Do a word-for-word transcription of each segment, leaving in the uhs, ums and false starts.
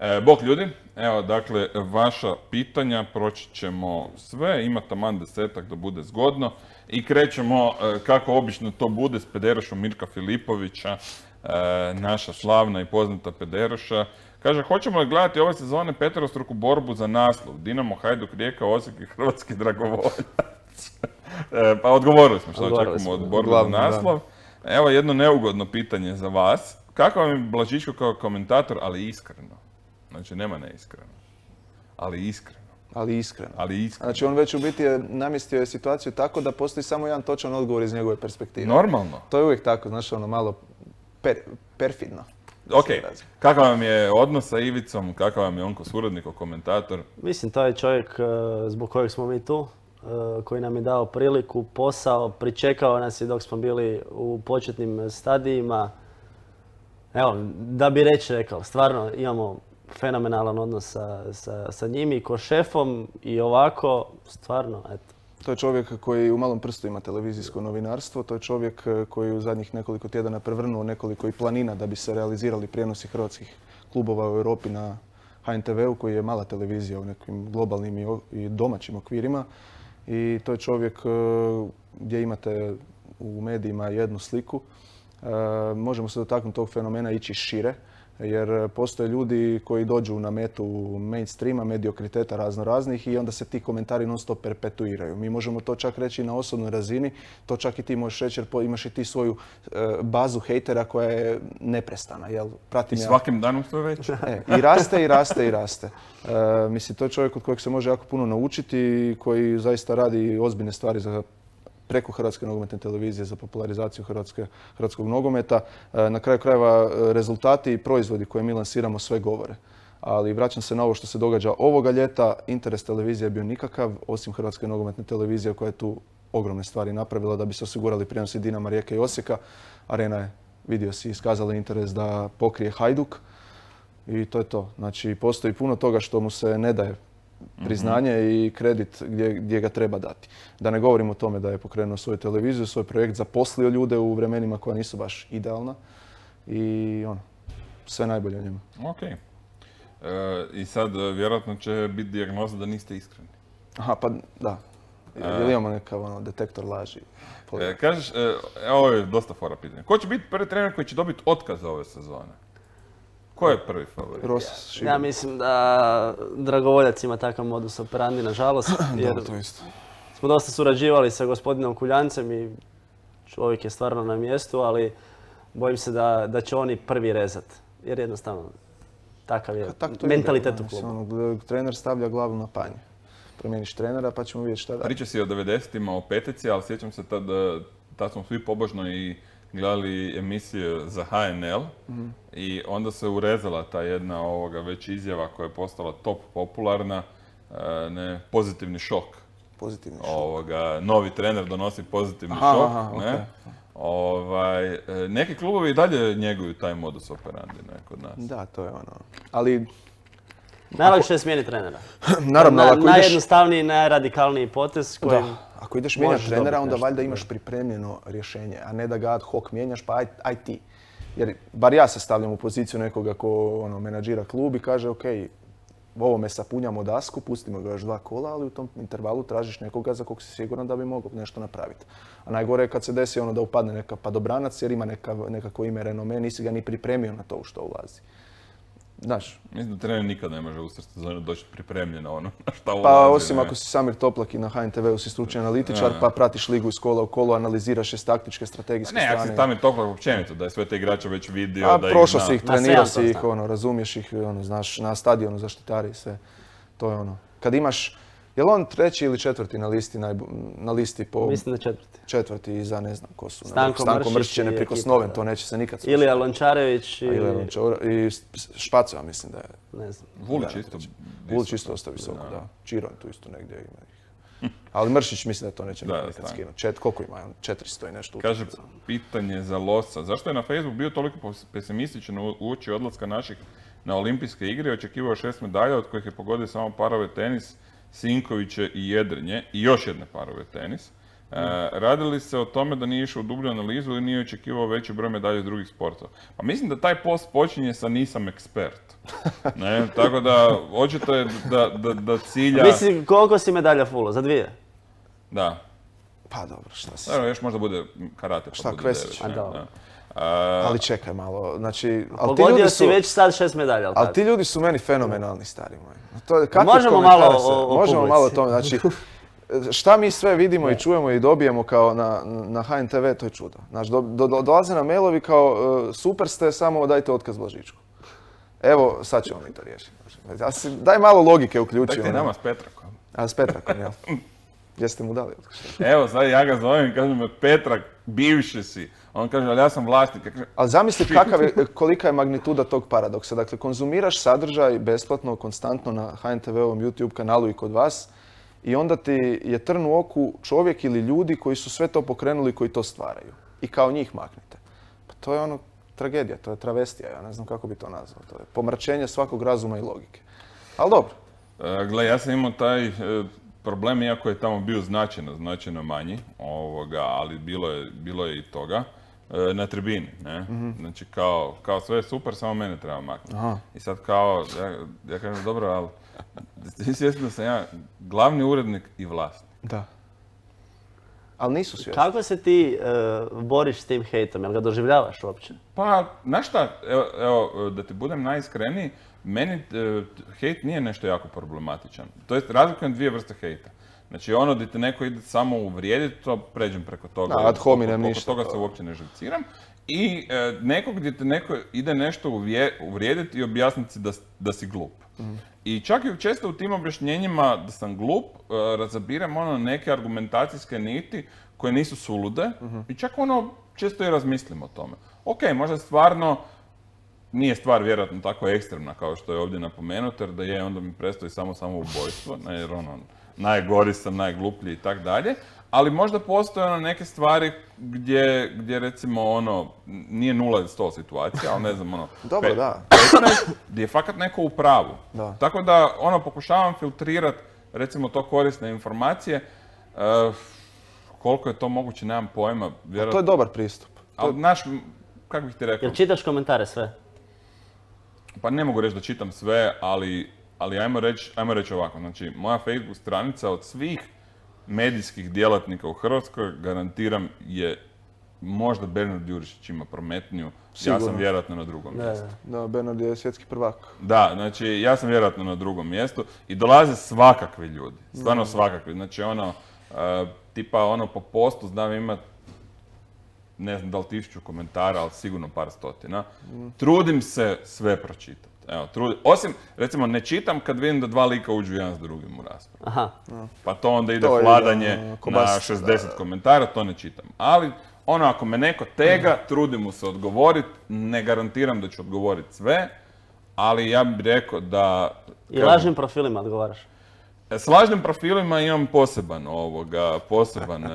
E, bok ljudi, evo dakle vaša pitanja, proći ćemo sve, ima taman desetak da bude zgodno i krećemo e, kako obično to bude s pederošom Mirka Filipovića, e, naša slavna i poznata pederoša. Kaže, hoćemo li gledati ove sezone peterostruku borbu za naslov? Dinamo, Hajduk, Rijeka, Osijek i Hrvatski dragovoljac. e, pa odgovorili smo što očekujemo od borbe za naslov. Da. Evo jedno neugodno pitanje za vas. Kako vam je Blažičko kao komentator, ali iskreno? Znači, nema neiskreno. Ali iskreno. Ali iskreno. Ali iskreno. Znači, on već u biti je namjestio je situaciju tako da postoji samo jedan točan odgovor iz njegove perspektive. Normalno. To je uvijek tako, znači, ono malo per, perfidno. Ok, kakav vam je odnos sa Ivicom, kakav vam je on ko suradnik, ko komentator? Mislim, to je čovjek zbog kojeg smo mi tu, koji nam je dao priliku, posao, pričekao nas je dok smo bili u početnim stadijima. Evo, da bi reći rekao, stvarno imamo fenomenalan odnos sa, sa, sa njim i ko šefom i ovako, stvarno, eto. To je čovjek koji u malom prstu ima televizijsko novinarstvo, to je čovjek koji u zadnjih nekoliko tjedana prevrnuo nekoliko i planina da bi se realizirali prijenosi hrvatskih klubova u Europi na H N T V-u koji je mala televizija u nekim globalnim i domaćim okvirima. I to je čovjek gdje imate u medijima jednu sliku. Možemo se dotaknuti tog fenomena ići šire, jer postoje ljudi koji dođu na metu mainstreama, mediokriteta razno raznih i onda se ti komentari non stop perpetuiraju. Mi možemo to čak reći na osobnoj razini, to čak i ti možeš reći jer imaš i ti svoju bazu hejtera koja je neprestana. Jel? Pratim I svakim ja... danom sve već. E, I raste, i raste, i raste. E, mislim, to je čovjek od kojeg se može jako puno naučiti i koji zaista radi ozbiljne stvari za preko Hrvatske nogometne televizije za popularizaciju hrvatske, hrvatskog nogometa. Na kraju krajeva rezultati i proizvodi koje mi lansiramo sve govore. Ali vraćam se na ovo što se događa ovoga ljeta. Interes televizije je bio nikakav, osim Hrvatske nogometne televizije koja je tu ogromne stvari napravila da bi se osigurali prijenosi Dinama, Rijeke i Osijeka. Arena je, vidio si, iskazala interes da pokrije Hajduk. I to je to. Znači, postoji puno toga što mu se ne daje priznanje i kredit gdje, gdje ga treba dati. Da ne govorim o tome da je pokrenuo svoju televiziju, svoj projekt, zaposlio ljude u vremenima koja nisu baš idealna i ono, sve najbolje o njemu. Ok. E, I sad vjerojatno će biti dijagnoza da niste iskreni. Aha, pa da. Jel imamo nekav ono, detektor laži? E, kažeš, e, ovo je dosta fora pitanja. Ko će biti prvi trener koji će dobiti otkaz ove sezone? Ko je prvi favorit? Ja, ja mislim da Dragovoljac ima takav modus operandi, nažalost. Jer da, to isto. Smo dosta surađivali sa gospodinom Kuljancem i čovjek je stvarno na mjestu, ali bojim se da, da će oni prvi rezat. Jer jednostavno takav je mentalitet u klubu. Ono, trener stavlja glavu na panj. Promijeniš trenera pa ćemo vidjeti šta da. Priča si o devedesetima, o petici, ali sjećam se tad, tad smo svi pobožno i gledali emisije za H N L mm-hmm. i onda se urezala ta jedna ovoga već izjava koja je postala top popularna, ne, pozitivni šok. Pozitivni šok. Ovoga, novi trener donosi pozitivni aha, šok. Aha, ne? Okay. Ovaj, neki klubovi i dalje njeguju taj modus operandi ne, kod nas. Da, to je ono. Ali najlakše je smijeniti trenera. Naravno, Na, ako ideš... Najjednostavniji, najradikalniji potez kojim... Da. Ako ideš mijenjati trenera, onda valjda imaš pripremljeno rješenje, a ne da ga ad hoc mijenjaš, pa aj, aj ti. Jer bar ja se stavljam u poziciju nekoga ko ono, menadžira klub i kaže ok, ovome sapunjamo dasku, pustimo ga još dva kola, ali u tom intervalu tražiš nekoga za kog si siguran da bi mogao nešto napraviti. A najgore je kad se desi ono da upadne neka padobranac jer ima neka, nekako ime renome, nisi ga ni pripremio na to u što ulazi. Znaš. Mislim da trener nikad ne može u sezonu doći pripremljeno ono na šta ulazi. Pa osim ne. Ako si Samir Toplak i na H N T V-u si stručni analitičar, ja. Pa pratiš ligu iz kola u kolo, analiziraš je s taktičke, strategijske ne, strane. Ne, ako si Samir Toplak općenito, da je sve te igrače već vidio, A, da ih prošao zna. si ih, trenirao si ih, ono, razumiješ ih, ono, znaš, na stadionu zaštitari i sve. To je ono. Kad imaš, je li on treći ili četvrti na listi, najbo, na listi po... Mislim da četvrti. Četvrti i za ne znam ko su. Stanko, Stanko Mršić je neprikosnoven, to neće se nikad slušati. Ilija Lončarević i... Ilija Lončarević i Špacova mislim da je. Ne znam. Vulić isto. Vulić isto ostaje visoko, da. da. Čiron tu isto negdje ima ih. Ali Mršić mislim da to neće da, nikad skinuti. Čet, koliko ima? četiristo i nešto. Kaže, pitanje za Losa. Zašto je na Facebook bio toliko pesimističan uoči odlaska naših na olimpijske igre? Očekivao šest medalja, od kojih je pogodio samo parove tenis, Sinkoviće i jedrenje i još jedne parove tenis. E, radi li se o tome da nije išao u dublju analizu ili nije očekivao veći broj medalja iz drugih sportova? Pa mislim da taj post počinje sa nisam ekspert. Ne, tako da očito je da, da, da cilja... Mislim, koliko si medalja fulo? Za dvije? Da. Pa dobro, šta si... Evo, još možda bude karate pa Šta, bude Kvesić? devet, A, ne, dobro. da. A, Ali čekaj malo, znači... ali ti Pogodio ljudi si su- već sad šest medalja, ali Ali tako? ti ljudi su meni fenomenalni, stari moji. To je, kakvi Možemo komentari malo se- o- o Možemo publici. malo o tome. Znači, šta mi sve vidimo i čujemo i dobijemo kao na, na H N T V, to je čudo. Znači, do, do, dolaze nam mailovi kao e, super ste, samo dajte otkaz Blažičku. Evo, sad ćemo mi to riješiti. A si- Daj malo logike uključi. dajte ono. nama s Petrakom. A s Petrakom, jel? Jeste mu dali otkaz? Evo, sad ja ga zovem i kažem me, Petrak, bivši si. On kaže, ali ja sam vlasnik. Ja kažem, Ali zamisli kakav je, kolika je magnituda tog paradoksa. Dakle, konzumiraš sadržaj besplatno, konstantno na H N T V-ovom YouTube kanalu i kod vas i onda ti je trn u oku čovjek ili ljudi koji su sve to pokrenuli i koji to stvaraju. I kao njih maknete. Pa to je ono tragedija, to je travestija, ja ne znam kako bi to nazvao. To je pomračenje svakog razuma i logike. Ali dobro. E, gle, ja sam imao taj e, problem, iako je tamo bio značajno, značajno manji, ovoga, ali bilo je, bilo je i toga, e, na tribini, ne? Znači, kao, kao sve je super, samo mene treba maknuti. Aha. I sad kao, ja, ja kažem, dobro, ali ti svjesni da sam ja glavni urednik i vlasnik. Da. Ali nisu svjesni. Kako se ti e, boriš s tim hejtom? Jel ga doživljavaš uopće? Pa, znaš šta, evo, evo, da ti budem najiskreniji, meni e, hejt nije nešto jako problematičan. To jest, razlikujem dvije vrste hejta. Znači, ono gdje te neko ide samo uvrijediti, to pređem preko toga. Da, ad hominem oko- oko ništa, toga to- se uopće ne živciram. I e, neko gdje te neko ide nešto uvje- uvrijediti i objasniti da, s- da si glup. I čak i često u tim objašnjenjima da sam glup, e, razabiram ono neke argumentacijske niti koje nisu sulude i čak ono često i razmislim o tome. Ok, možda stvarno nije stvar vjerojatno tako ekstremna kao što je ovdje napomenuto, jer da je onda mi predstoji samo samoubojstvo, ne, jer ono, najgori sam, najgluplji i tak dalje, ali možda postoje ono neke stvari gdje, gdje recimo ono, nije nula ili sto situacija, ali ne znam ono, Dobro, pe- da. petnaest gdje je fakat neko u pravu. Da. Tako da ono, pokušavam filtrirati recimo to korisne informacije, e, koliko je to moguće, nemam pojma, To je vjerojatno, dobar pristup. ali znaš, kako bih ti rekao, Jel čitaš komentare sve? pa ne mogu reći da čitam sve, ali, ali ajmo reći ajmo reći ovako, znači moja Facebook stranica od svih medijskih djelatnika u Hrvatskoj, garantiram, je možda Bernard Jurišić ima prometniju, ja Sigurno. sam vjerojatno na drugom Da, mjestu. da. Da, Bernard je svjetski prvak. Da, znači ja sam vjerojatno na drugom mjestu i dolaze svakakvi ljudi, stvarno svakakvi, znači ono, e, tipa ono po postu znam imat, ne znam da li tisuću komentara, ali sigurno par stotina. Trudim se sve pročitati. Evo, trudim. Osim, recimo, ne čitam kad vidim da dva lika uđu jedan s drugim u raspravu. Aha. Pa to onda ide To ide, vladanje ono, na kobasica, šezdeset da, da. komentara, to ne čitam. Ali, ono, ako me neko tega, trudim mu se odgovoriti, ne garantiram da ću odgovoriti sve, ali ja bih rekao da... I kažem, lažnim profilima odgovaraš. s lažnim profilima imam poseban ovoga, poseban e,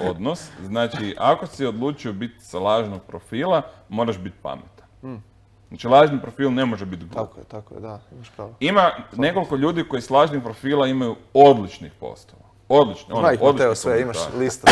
odnos. Znači, ako si odlučio biti sa lažnog profila, moraš biti pametan. Znači, lažni profil ne može biti glup. Tako je, tako je, da, imaš pravo. Ima nekoliko ljudi koji s lažnih profila imaju odličnih postova. Odlični, ono, Zna ih odlični Mateo sve, imaš komentari. listu.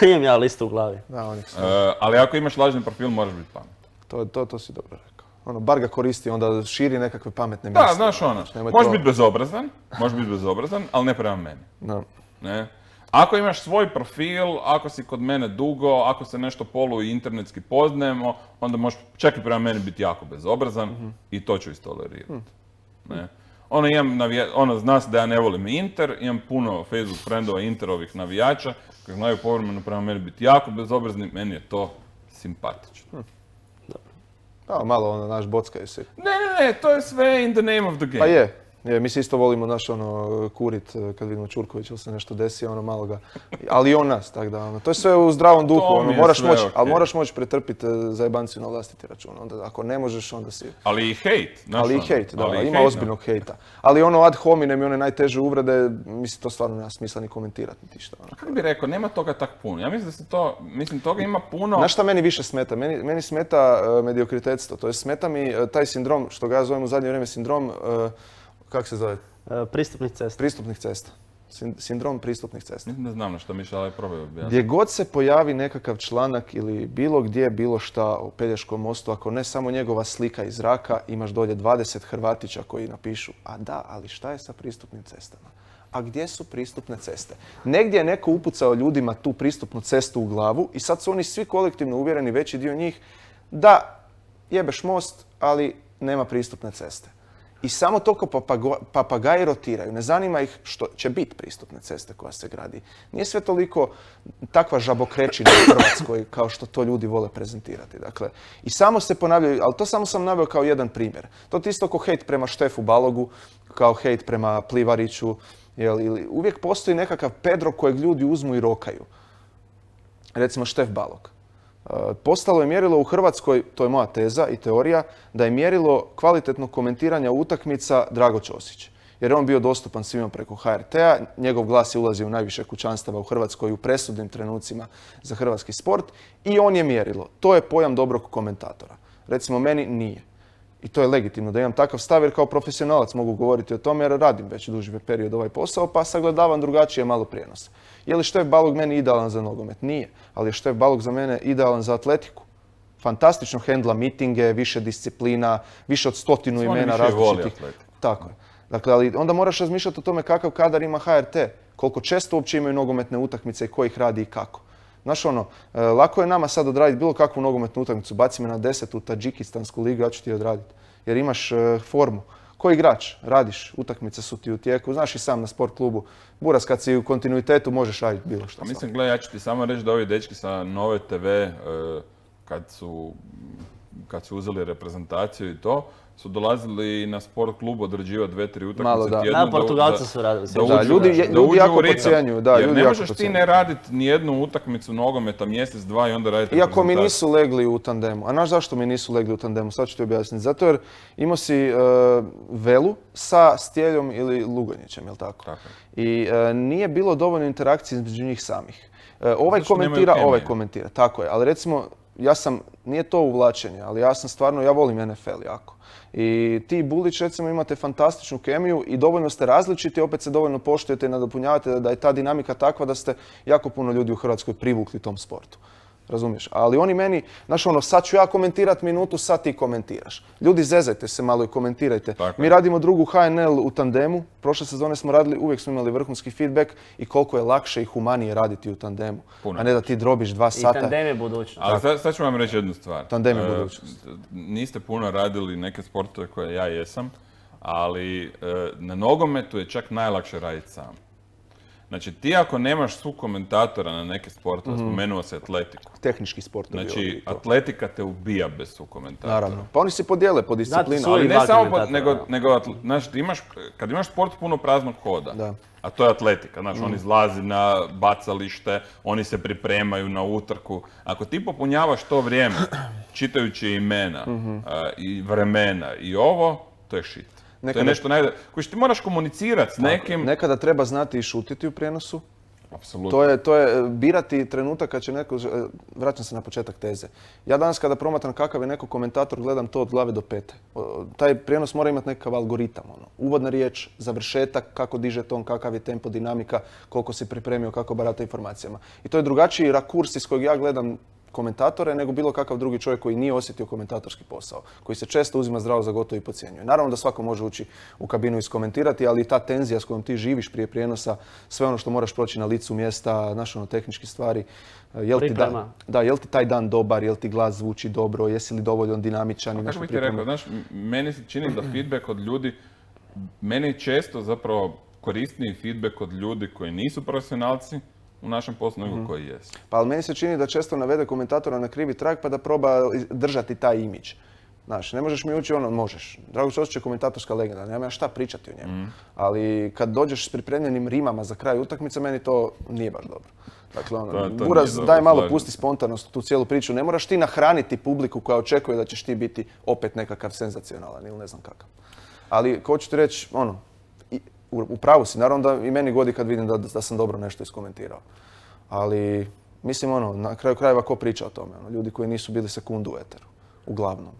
Imam ja listu u glavi. Da, onih sve. E, ali ako imaš lažni profil, moraš biti pametan. To, to, to si dobro rekao. Ono, bar ga koristi, onda širi nekakve pametne Da, misli. znaš ono, nemoj možeš to- biti bezobrazan, možeš biti bezobrazan, ali ne prema meni. Da. Ne? Ako imaš svoj profil, ako si kod mene dugo, ako se nešto polu i internetski poznajemo, onda možeš čak i prema meni biti jako bezobrazan i to ću istolerirati. Ne? Ono, imam navija- ono, zna se da ja ne volim Inter, imam puno Facebook frendova Interovih navijača koji znaju povremeno prema meni biti jako bezobrazni, meni je to simpatično. Da, malo ono, naš bockaju se. Ne, ne, ne, to je sve in the name of the game. Pa je. Je, mi se isto volimo naš ono kurit eh, kad vidimo Ćurković ili se nešto desi, ono malo ga, ali i on nas, tako da ono, to je sve u zdravom duhu, To mi ono, je moraš sve moći, okej. ali moraš moći pretrpiti zajebanciju na vlastiti račun, onda ako ne možeš, onda si, Ali i hejt. znaš ali i ono, hejt, da, ali i ima hejt, ozbiljnog hejta, ali ono ad hominem i one najteže uvrede, mislim, to stvarno nema smisla ni komentirati niti šta, ono. Kako bi rekao, nema toga tak puno. Ja mislim da se to, mislim toga ima puno. Znaš šta meni više smeta? Meni, meni smeta uh, mediokritetstvo, to je smeta mi eh, taj sindrom, što ga ja zovem u zadnje vrijeme sindrom, uh, kak se zove, E, pristupnih cesta. pristupnih cesta. Sindrom pristupnih cesta. Mislim da znam na što mišlja, ali probaj objasniti. Gdje god se pojavi nekakav članak ili bilo gdje, bilo šta o Pelješkom mostu, ako ne samo njegova slika iz zraka, imaš dolje dvadeset Hrvatića koji napišu, a da, ali šta je sa pristupnim cestama? A gdje su pristupne ceste? Negdje je neko upucao ljudima tu pristupnu cestu u glavu i sad su oni svi kolektivno uvjereni, veći dio njih, da jebeš most, ali nema pristupne ceste. I samo toliko papagaji rotiraju. Ne zanima ih što će biti pristupne ceste koja se gradi. Nije sve toliko takva žabokrečina u Hrvatskoj kao što to ljudi vole prezentirati. Dakle, i samo se ponavljaju, ali to samo sam naveo kao jedan primjer. To je isto kao hejt prema Štefu Balogu, kao hejt prema Plivariću. Jel, ili uvijek postoji nekakav Pedro kojeg ljudi uzmu i rokaju. Recimo Štef Balog. Postalo je mjerilo u Hrvatskoj, to je moja teza i teorija, da je mjerilo kvalitetnog komentiranja utakmica Drago Ćosić. Jer je on bio dostupan svima preko H R T-a, njegov glas je ulazio u najviše kućanstava u Hrvatskoj u presudnim trenucima za hrvatski sport i on je mjerilo. To je pojam dobrog komentatora. Recimo meni nije. I to je legitimno da imam takav stav jer kao profesionalac mogu govoriti o tome jer radim već duži period ovaj posao pa sagledavam drugačije malo prijenos. Je li Štef Balog meni idealan za nogomet? Nije. Ali je Štef Balog za mene idealan za atletiku. Fantastično hendla mitinge, više disciplina, više od stotinu imena različitih. Tako je. Dakle, ali onda moraš razmišljati o tome kakav kadar ima H R T, koliko često uopće imaju nogometne utakmice i ko ih radi i kako. Znaš ono, lako je nama sad odraditi bilo kakvu nogometnu utakmicu, baci me na deset u Tadžikistansku ligu, ja ću ti odraditi. Jer imaš formu. Ko igrač? Radiš, utakmice su ti u tijeku, znaš i sam na sport klubu. Buras, kad si u kontinuitetu možeš raditi bilo što. Mislim, gledaj, ja ću ti samo reći da ovi dečki sa Nove te ve, kad su, kad su uzeli reprezentaciju i to, su dolazili na sport klub odrađivati dve, tri utakmice tjedno. Da, Portugalci su radili. Da, ljudi jako pocijenjuju. Jer ne možeš ti ne raditi nijednu utakmicu nogometa mjesec, dva i onda raditi reprezentaciju. Iako mi nisu legli u tandemu. A znaš zašto mi nisu legli u tandemu? Sad ću ti objasniti. Zato jer imao si Velu sa Stjeljom ili Lugonjićem, jel tako? Tako. I nije bilo dovoljno interakcije između njih samih. Ovaj komentira, ovaj komentira. Tako je. Ali recimo, ja sam, nije to uvlačenje, ali ja sam stvarno, ja volim N F L jako. I ti i Bulić recimo imate fantastičnu kemiju i dovoljno ste različiti, opet se dovoljno poštujete i nadopunjavate da je ta dinamika takva da ste jako puno ljudi u Hrvatskoj privukli tom sportu. Razumiješ? Ali oni meni, znaš ono, sad ću ja komentirat minutu, sad ti komentiraš. Ljudi, zezajte se malo i komentirajte. Tako. Mi radimo drugu H N L u tandemu. Prošle sezone smo radili, uvijek smo imali vrhunski feedback i koliko je lakše i humanije raditi u tandemu. Puno. A ne da ti drobiš dva sata. I tandem je budućnost. Ali sad, sad ću vam reći jednu stvar. Tandem je budućnost. E, niste puno radili neke sportove koje ja jesam, ali e, na nogometu je čak najlakše raditi sam. Znači, ti ako nemaš su komentatora na neke sportove, mm-hmm. spomenuo se atletiku. Tehnički sport. Znači, atletika te ubija bez su komentatora. Naravno. Pa oni se podijele po disciplinu. Ali ne samo, po, nego, nego znaš, imaš, kad imaš sport puno praznog hoda, da. A to je atletika, znaš, mm. on izlazi na bacalište, oni se pripremaju na utrku. Ako ti popunjavaš to vrijeme, čitajući imena mm-hmm. uh, i vremena i ovo, to je shit. Nekada, to je nešto najde... koji ti moraš komunicirati s nekim. Nekada treba znati i šutiti u prijenosu. Apsolutno. To je, to je birati trenutak kad će neko... Vraćam se na početak teze. Ja danas kada promatram kakav je neko komentator, gledam to od glave do pete. Taj prijenos mora imati nekakav algoritam. Ono. Uvodna riječ, završetak, kako diže ton, kakav je tempo, dinamika, koliko si pripremio, kako barata informacijama. I to je drugačiji rakurs iz kojeg ja gledam komentatore nego bilo kakav drugi čovjek koji nije osjetio komentatorski posao, koji se često uzima zdravo za gotovo i podcjenjuje. Naravno da svako može ući u kabinu i iskomentirati, ali ta tenzija s kojom ti živiš prije prijenosa, sve ono što moraš proći na licu mjesta, naš ono tehnički stvari, jel ti, da, da, jel ti taj dan dobar, jel ti glas zvuči dobro, jesi li dovoljno dinamičan i nešto pripremio. Znaš, meni se čini da feedback od ljudi, meni je često zapravo korisniji feedback od ljudi koji nisu profesionalci, u našem poslu nego koji jesu. Pa ali meni se čini da često navede komentatora na krivi trag pa da proba držati taj imidž. Znaš, ne možeš mi ući ono, možeš. Drago Ćosić je komentatorska legenda, nema ja šta pričati o njemu. Mm. Ali kad dođeš s pripremljenim rimama za kraj utakmice, meni to nije baš dobro. Dakle, ono, to, to Buraz, daj malo, pusti spontanost u tu cijelu priču. Ne moraš ti nahraniti publiku koja očekuje da ćeš ti biti opet nekakav senzacionalan ili ne znam kakav. Ali, hoću ti reći, ono, u pravu si, naravno da i meni godi kad vidim da, da sam dobro nešto iskomentirao. Ali, mislim, ono, na kraju krajeva ko priča o tome? Ono, ljudi koji nisu bili sekundu u eteru, uglavnom.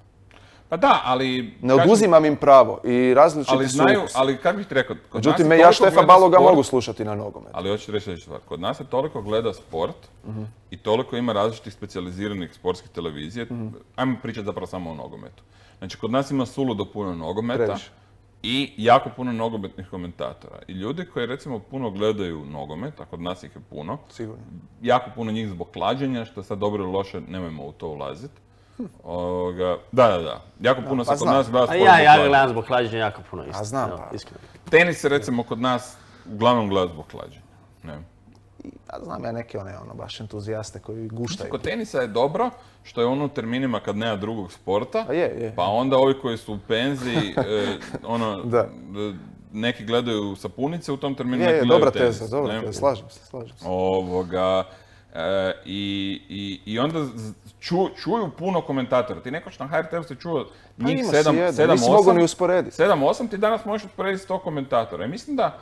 Pa da, ali... Ne oduzimam im pravo i različiti ali su znaju, ukusi. ali kako bih ti rekao... Međutim, me ja Štefa Baloga mogu slušati na nogomet. Ali hoću reći reći stvar, kod nas se toliko gleda sport uh-huh. i toliko ima različitih specijaliziranih sportskih televizije, uh-huh. ajmo pričati zapravo samo o nogometu. Znači, kod nas ima suludo puno nogometa Previše. I jako puno nogometnih komentatora. I ljudi koji recimo puno gledaju nogomet, a kod nas ih je puno, sigurno. Jako puno njih zbog klađenja, što sad dobro ili loše, nemojmo u to ulaziti. Ovoga, da, da, da. Jako puno pa se kod nas gleda sport zbog klađenja. Ja, ja gledam zbog klađenja jako puno isto. A znam, pa. Tenis se recimo kod nas uglavnom gleda zbog klađenja. Ne. Ja znam ja neke one ono, baš entuzijaste koji guštaju. Kod tenisa je dobro što je ono u terminima kad nema drugog sporta, pa, je, je. pa onda ovi koji su u penziji, e, ono, da. neki gledaju sapunice u tom terminu, je, neki je, gledaju dobra tenis. Teza, dobra teza, slažem se, slažem se. Ovoga, e, i, i, i onda ču, čuju puno komentatora. Ti nekoć na H R T-u se čuo njih sedam, sedam, osam, sedam, osam, ti danas možeš usporediti sto komentatora. I mislim da,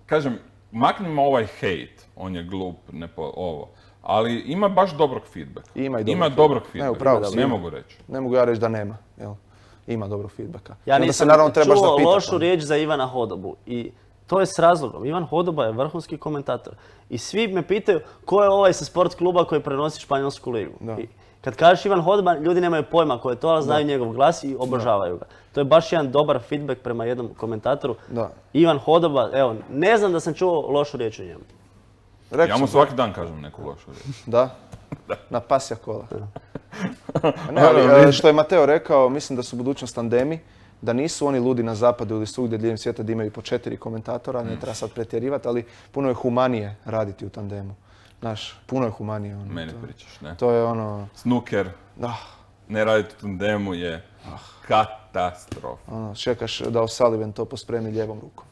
kažem, maknimo ovaj hejt, on je glup, ne po, ovo, ali ima baš dobrog feedbacka. Ima i dobrog, ima dobrog feedbacka, ne, upravo, ne mogu reći. Ne mogu ja reći da nema, jel? Ima dobrog feedbacka. Ja nisam čuo lošu riječ za Ivana Hodobu i to je s razlogom. Ivan Hodoba je vrhunski komentator. I svi me pitaju ko je ovaj sa sport kluba koji prenosi Španjolsku ligu. I kad kažeš Ivan Hodoba, ljudi nemaju pojma ko je to, ali znaju da. njegov glas i obožavaju ga. To je baš jedan dobar feedback prema jednom komentatoru. Da. Ivan Hodoba, evo, ne znam da sam čuo lošu riječ o njemu. Rekću, ja mu svaki dan kažem neku lošu riječ. Da? Da. Na pasja kola. Ne, ali, što je Mateo rekao, mislim da su budućnost tandemi, da nisu oni ludi na zapadu ili svugdje diljem svijeta da imaju po četiri komentatora, ne treba sad pretjerivati, ali puno je humanije raditi u tandemu. Znaš, puno je humanije. Ono, Meni to, pričaš, ne? To je ono... Snooker, da. Ne raditi u tandemu je katastrofa. Ono, čekaš da O'Sullivan to pospremi lijevom rukom.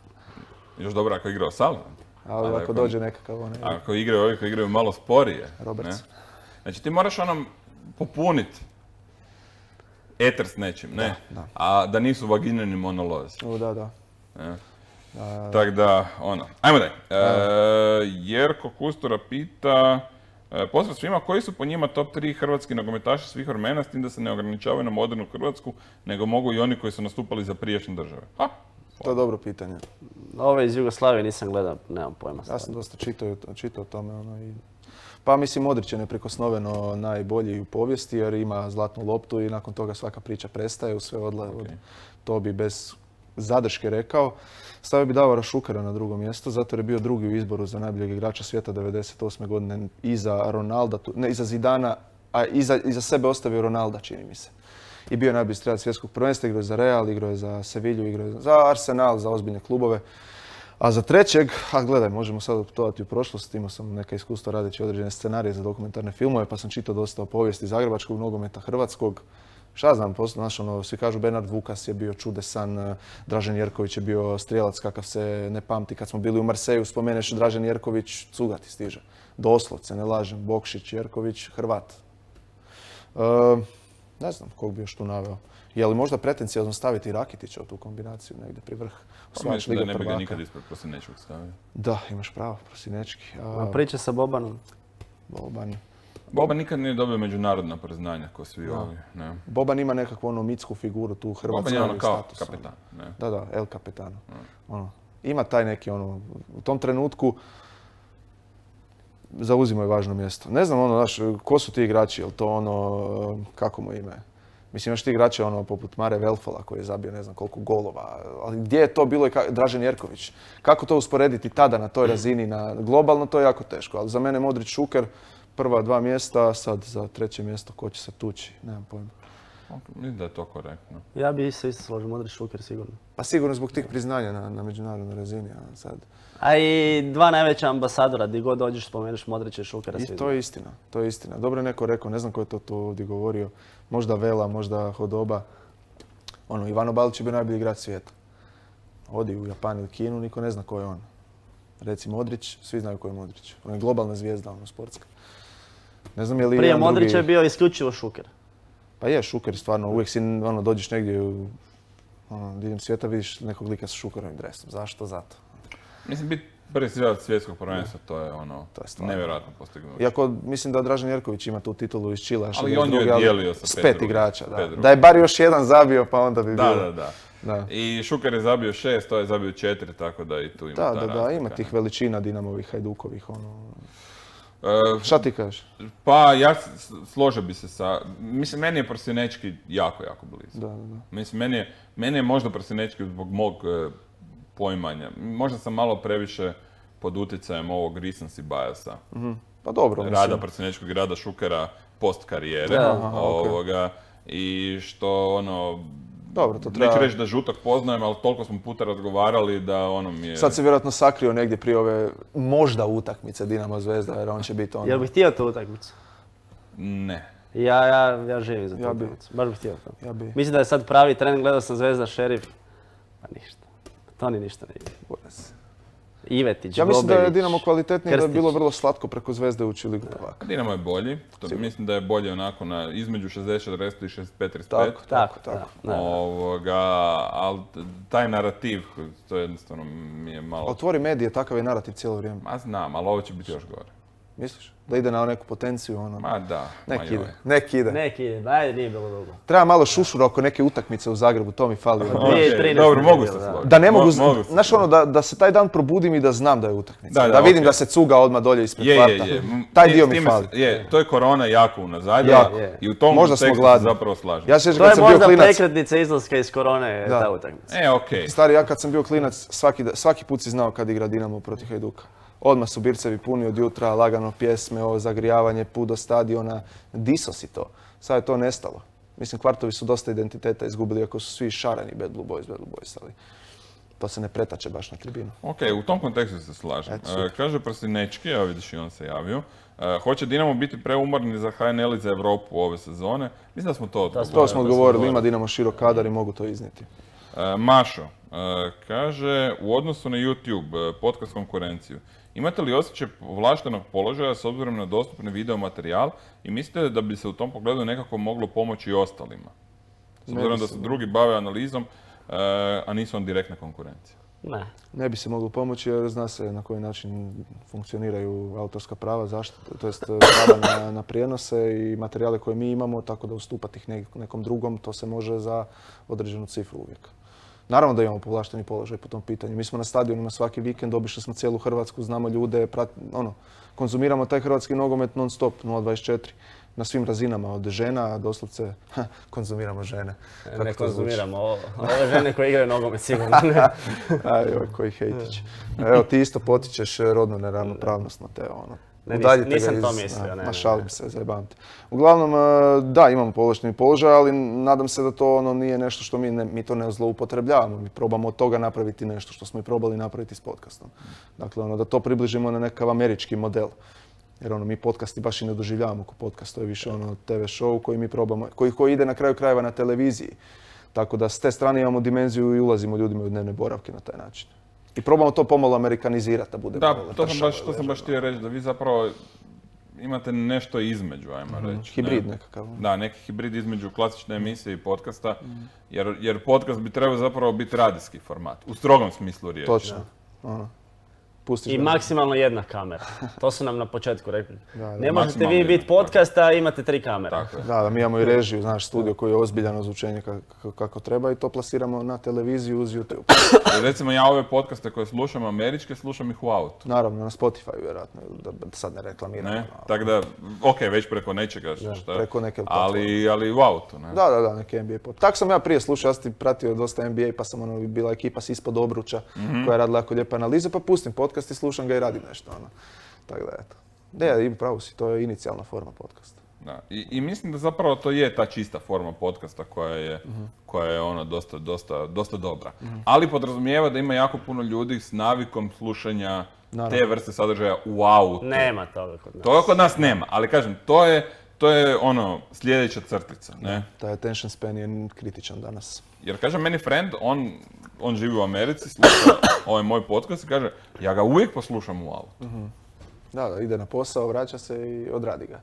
Još dobro ako igra O'Sullivan. Ali, ali ako dođe nekakav onaj... Ako igraju ovi koji igraju malo sporije. Roberts. Ne? Znači ti moraš onom popuniti eter s nečim, ne? Da, da. A da nisu vaginjeni monolozi. O, da, da. Ne? Tako da, ono. Ajmo daj. E, Jerko Kustura pita, e, pozdrav svima, koji su po njima top tri hrvatski nogometaši svih vremena, s tim da se ne ograničavaju na modernu Hrvatsku, nego mogu i oni koji su nastupali za prijašnje države? Ha? To je dobro pitanje. Ove iz Jugoslavije nisam gledao, nemam pojma. Ja sam dosta čitao, čitao o tome. Ono, i... Pa mislim, Modrić je neprikosnoveno najbolji u povijesti jer ima zlatnu loptu i nakon toga svaka priča prestaje, u sve odla... Okay. To bi bez zadrške rekao. Stavio bi Davora Šukera na drugo mjesto, zato jer je bio drugi u izboru za najboljeg igrača svijeta devedeset osme godine iza Ronalda, ne iza Zidana, a iza, iza sebe ostavio Ronalda, čini mi se. I bio je najbolji strelac svjetskog prvenstva, igrao je za Real, igrao je za Sevilju, igrao je za Arsenal, za ozbiljne klubove. A za trećeg, a gledaj, možemo sad putovati u prošlost, imao sam neka iskustva radeći određene scenarije za dokumentarne filmove, pa sam čitao dosta o povijesti zagrebačkog nogometa, hrvatskog. Šta znam, znaš, ono, svi kažu Bernard Vukas je bio čudesan, Dražen Jerković je bio strijelac kakav se ne pamti. Kad smo bili u Marseju, spomeneš Dražen Jerković, cuga ti stiže. Doslovce, ne lažem, Bokšić, Jerković, Hrvat. E, ne znam kog bi još tu naveo. Je li možda pretencijazno staviti Rakitića u tu kombinaciju negdje pri vrh? Pa mislim da ne bi ga nikad ispred Prosinečkog stavio. Da, imaš pravo, Prosinečki. A, A priča sa Bobanom? Boban. Boban nikad nije dobio međunarodna priznanja ko svi no. ovi. Ne. Boban ima nekakvu ono mitsku figuru tu hrvatsku. Boban je ono kao status, kapetan. Ne. Da, da, El Capitano. No. Ono, ima taj neki ono, u tom trenutku zauzimo je važno mjesto. Ne znam ono, znaš, ko su ti igrači, jel to ono, kako mu ime? Mislim, imaš ti igrače ono, poput Mare Velfola koji je zabio ne znam koliko golova, ali gdje je to bilo i ka... Dražen Jerković? Kako to usporediti tada na toj razini, na globalno, to je jako teško. Ali za mene Modrić, Šuker, prva dva mjesta, sad za treće mjesto ko će se tući, nemam pojma. Mislim da je to korektno. Ja bi se isto složio, Modrić, Šuker sigurno. Pa sigurno zbog tih priznanja na, na međunarodnoj razini, a sad... A i dva najveća ambasadora, gdje god dođeš spomeniš Modrića i Šukera. I to je istina, to je istina. Dobro je neko rekao, ne znam ko je to tu ovdje govorio, možda Vela, možda Hodoba. Ono, Ivano Balić je bio najbolji igrač svijeta. Odi u Japan ili Kinu, niko ne zna ko je on. Reci Modrić, svi znaju ko je Modrić. On je globalna zvijezda, ono, sportska. Ne znam je li Prije Modrića drugi... je bio isključivo Šuker. Pa je, Šuker stvarno, uvijek si, ono, dođeš negdje ono, diljem svijeta, vidiš nekog lika sa Šukerovim dresom. Zašto? Zato. Mislim, bit Prvi srijelac svjetskog prvenstva, to je ono, To je stvarno. nevjerojatno postignuće. Iako mislim da Dražen Jerković ima tu titulu iz Čila. Ali on ju je dijelio sa s pet pet drugih. igrača, da. Pet drugih. Da je bar još jedan zabio, pa onda bi Da, bilo. da, da. Da. I Šuker je zabio šest, to je zabio četiri, tako da i tu ima Da, ta da, da, razlika, ima ne. tih veličina Dinamovih, Hajdukovih, ono. E, Šta ti kažeš? Pa ja s- složio bi se sa, mislim meni je Prosinečki jako, jako blizu. Da, da, da. Mislim meni je, meni je možda Prosinečki zbog mog e, poimanja. Možda sam malo previše pod utjecajem ovog recency biasa. Pa dobro, Rada mislim. Prosinečkog i rada Šukera post karijere. Da. Aha, okej. ovoga, I što ono, Dobro, to treba- neću reći da Žutak poznajem, ali toliko smo puta razgovarali da ono mi je... Sad se vjerojatno sakrio negdje prije ove možda utakmice Dinamo Zvezda, jer on će biti ono. Jel bih htio tu utakmicu? Ne. Ja, ja, ja živim za tu Ja bi- utakmicu. Baš bih htio to. Ja bi... Mislim da je sad pravi tren, gledao sam Zvezda Šerif. Pa ništa. To ni ništa ne ide. Ivetić, Ja mislim da je Gobelić, Dinamo kvalitetniji, da je Krstić. bilo vrlo slatko preko Zvezde ući u Ligu prvaka. Dinamo je bolji, to mislim da je bolje onako na između šezdeset četrdeset i šezdeset pet trideset pet. Tako, Tako, tako, tako. da, da. Ovoga, ali taj narativ, to jednostavno mi je malo... Otvori medije, takav je narativ cijelo vrijeme. Ma znam, ali ovo će biti još gore. Misliš? Da ide na neku potenciju, ono. Ma da, ma Nek joj. ide, nek ide. Neki ide, ajde, nije bilo dugo. Treba malo šušura oko neke utakmice u Zagrebu, to mi fali. dvije Ok, trinaeste dobro, nije mogu bilo, se da. složiti. Da ne mogu, Mo- mogu se znaš složiti. ono, da, da se taj dan probudim i da znam da je utakmica. Da, Da, da, vidim ok. da se cuga odmah dolje ispred Je, kvarta. je, je. M, Taj s dio mi time fali. se- Je, to je korona jako unazadila Jako. i u tom Možda smo kontekstu se gladni. zapravo slažem. Ja se sjećam To kad je sam bio možda klinac. prekretnica izlaska iz korone, Da. ta utakmica. E, okej. Stari, ja kad sam bio klinac, svaki, da- svaki put si znao kad igra Dinamo protiv Hajduka. Odmah su bircevi puni od jutra, lagano pjesme, ovo zagrijavanje, put do stadiona. Diso si to. Sad je to nestalo. Mislim, kvartovi su dosta identiteta izgubili, ako su svi šareni Bad Blue Boys, Bad Blue Boys, ali to se ne pretače baš na tribinu. Ok, u tom kontekstu se slažem. Eto, super. E, kaže Prosinečki, evo vidiš i on se javio, e, hoće Dinamo biti preumorni za H N L i za Europu ove sezone? Mislim da smo to odgovorili. To smo odgovorili, govorili. ima Dinamo širok kadar i mogu to iznijeti. E, Mašo, e, kaže, u odnosu na YouTube, e, podcast konkurenciju, imate li osjećaj povlaštenog položaja s obzirom na dostupni video materijal i mislite da bi se u tom pogledu nekako moglo pomoći i ostalima? S Ne obzirom da se mislim. drugi bave analizom, e, a nisu on direktna konkurencija. Ne. Ne bi se moglo pomoći jer zna se na koji način funkcioniraju autorska prava, zaštita, to jest prava na, na prijenose i materijale koje mi imamo, tako da ustupati ih nek- nekom drugom, to se može za određenu cifru uvijek. Naravno da imamo povlašteni položaj po tom pitanju. Mi smo na stadionima svaki vikend, obišli smo cijelu Hrvatsku, znamo ljude, prat, ono, konzumiramo taj hrvatski nogomet non stop, nula dvadeset četiri. Na svim razinama, od žena, doslovce, ha, konzumiramo žene. Kako Ne to zvuči? konzumiramo ovo. Ove žene koje igraju nogomet sigurno ne. Aj, oj, koji hejtić. Evo, ti isto potičeš rodnu neravnopravnost, Mateo, ono. Ne, nis- Udaljite ga nisam to iz- mislio, a, ne, Ma ne, šalim ne. se, zajebam te. Uglavnom, e, da, imamo povlašteni položaj, ali nadam se da to ono nije nešto što mi, ne, mi to ne zloupotrebljavamo. Mi probamo od toga napraviti nešto što smo i probali napraviti s podcastom. Dakle, ono, da to približimo na nekakav američki model. Jer ono, mi podcasti baš i ne doživljavamo kao podcast, to je više ono te ve show koji mi probamo, koji, koji ide na kraju krajeva na televiziji. Tako da s te strane imamo dimenziju i ulazimo ljudima u dnevne boravke na taj način. I probamo to pomalo amerikanizirati da bude Da, malo to sam tršavo baš, to sam i baš htio reći, da vi zapravo imate nešto između, ajmo reći. Hibrid ne? nekakav. Da, neki hibrid između klasične emisije i podcasta, jer, jer podcast bi trebao zapravo biti radijski format, u strogom smislu riječi. Točno. Ono. Pustiš I ga. maksimalno jedna kamera. To su nam na početku rekli. Da, da, Ne možete maksimalno vi jedna, biti podcast, a imate tri kamere. Tako je. Da, da, mi imamo i režiju, znaš, studio koji je ozbiljan ozvučenje kako, kako treba i to plasiramo na televiziju uz YouTube. Jer recimo ja ove podcaste koje slušam američke, slušam ih u autu. Naravno, na Spotify vjerojatno, da, da sad ne reklamiram. Ne? ono. Tako da, ok, već preko nečega šta, preko neke ali, ali u autu, ne? Da, da, da, neki N B A pod. Tako sam ja prije slušao, ja sam ti pratio dosta N B A pa sam ono, bila ekipa s ispod obruča koja je radila jako lijepe analize, pa pustim podcast i slušam ga i radim nešto. Ono. Tako da, eto. Ne, ima pravo si, to je inicijalna forma podcasta. Da. I, I mislim da zapravo to je ta čista forma podcasta koja je, koja je ono dosta, dosta, dosta dobra. Ali podrazumijeva da ima jako puno ljudi s navikom slušanja Naravno. te vrste sadržaja u autu. Nema toga kod nas. Toga kod nas nema, ali kažem, to je, to je ono sljedeća crtica, ne? Taj attention span je kritičan danas. Jer kaže meni friend, on, on živi u Americi, sluša ovaj moj podcast i kaže, ja ga uvijek poslušam u autu. Da, da, ide na posao, vraća se i odradi ga.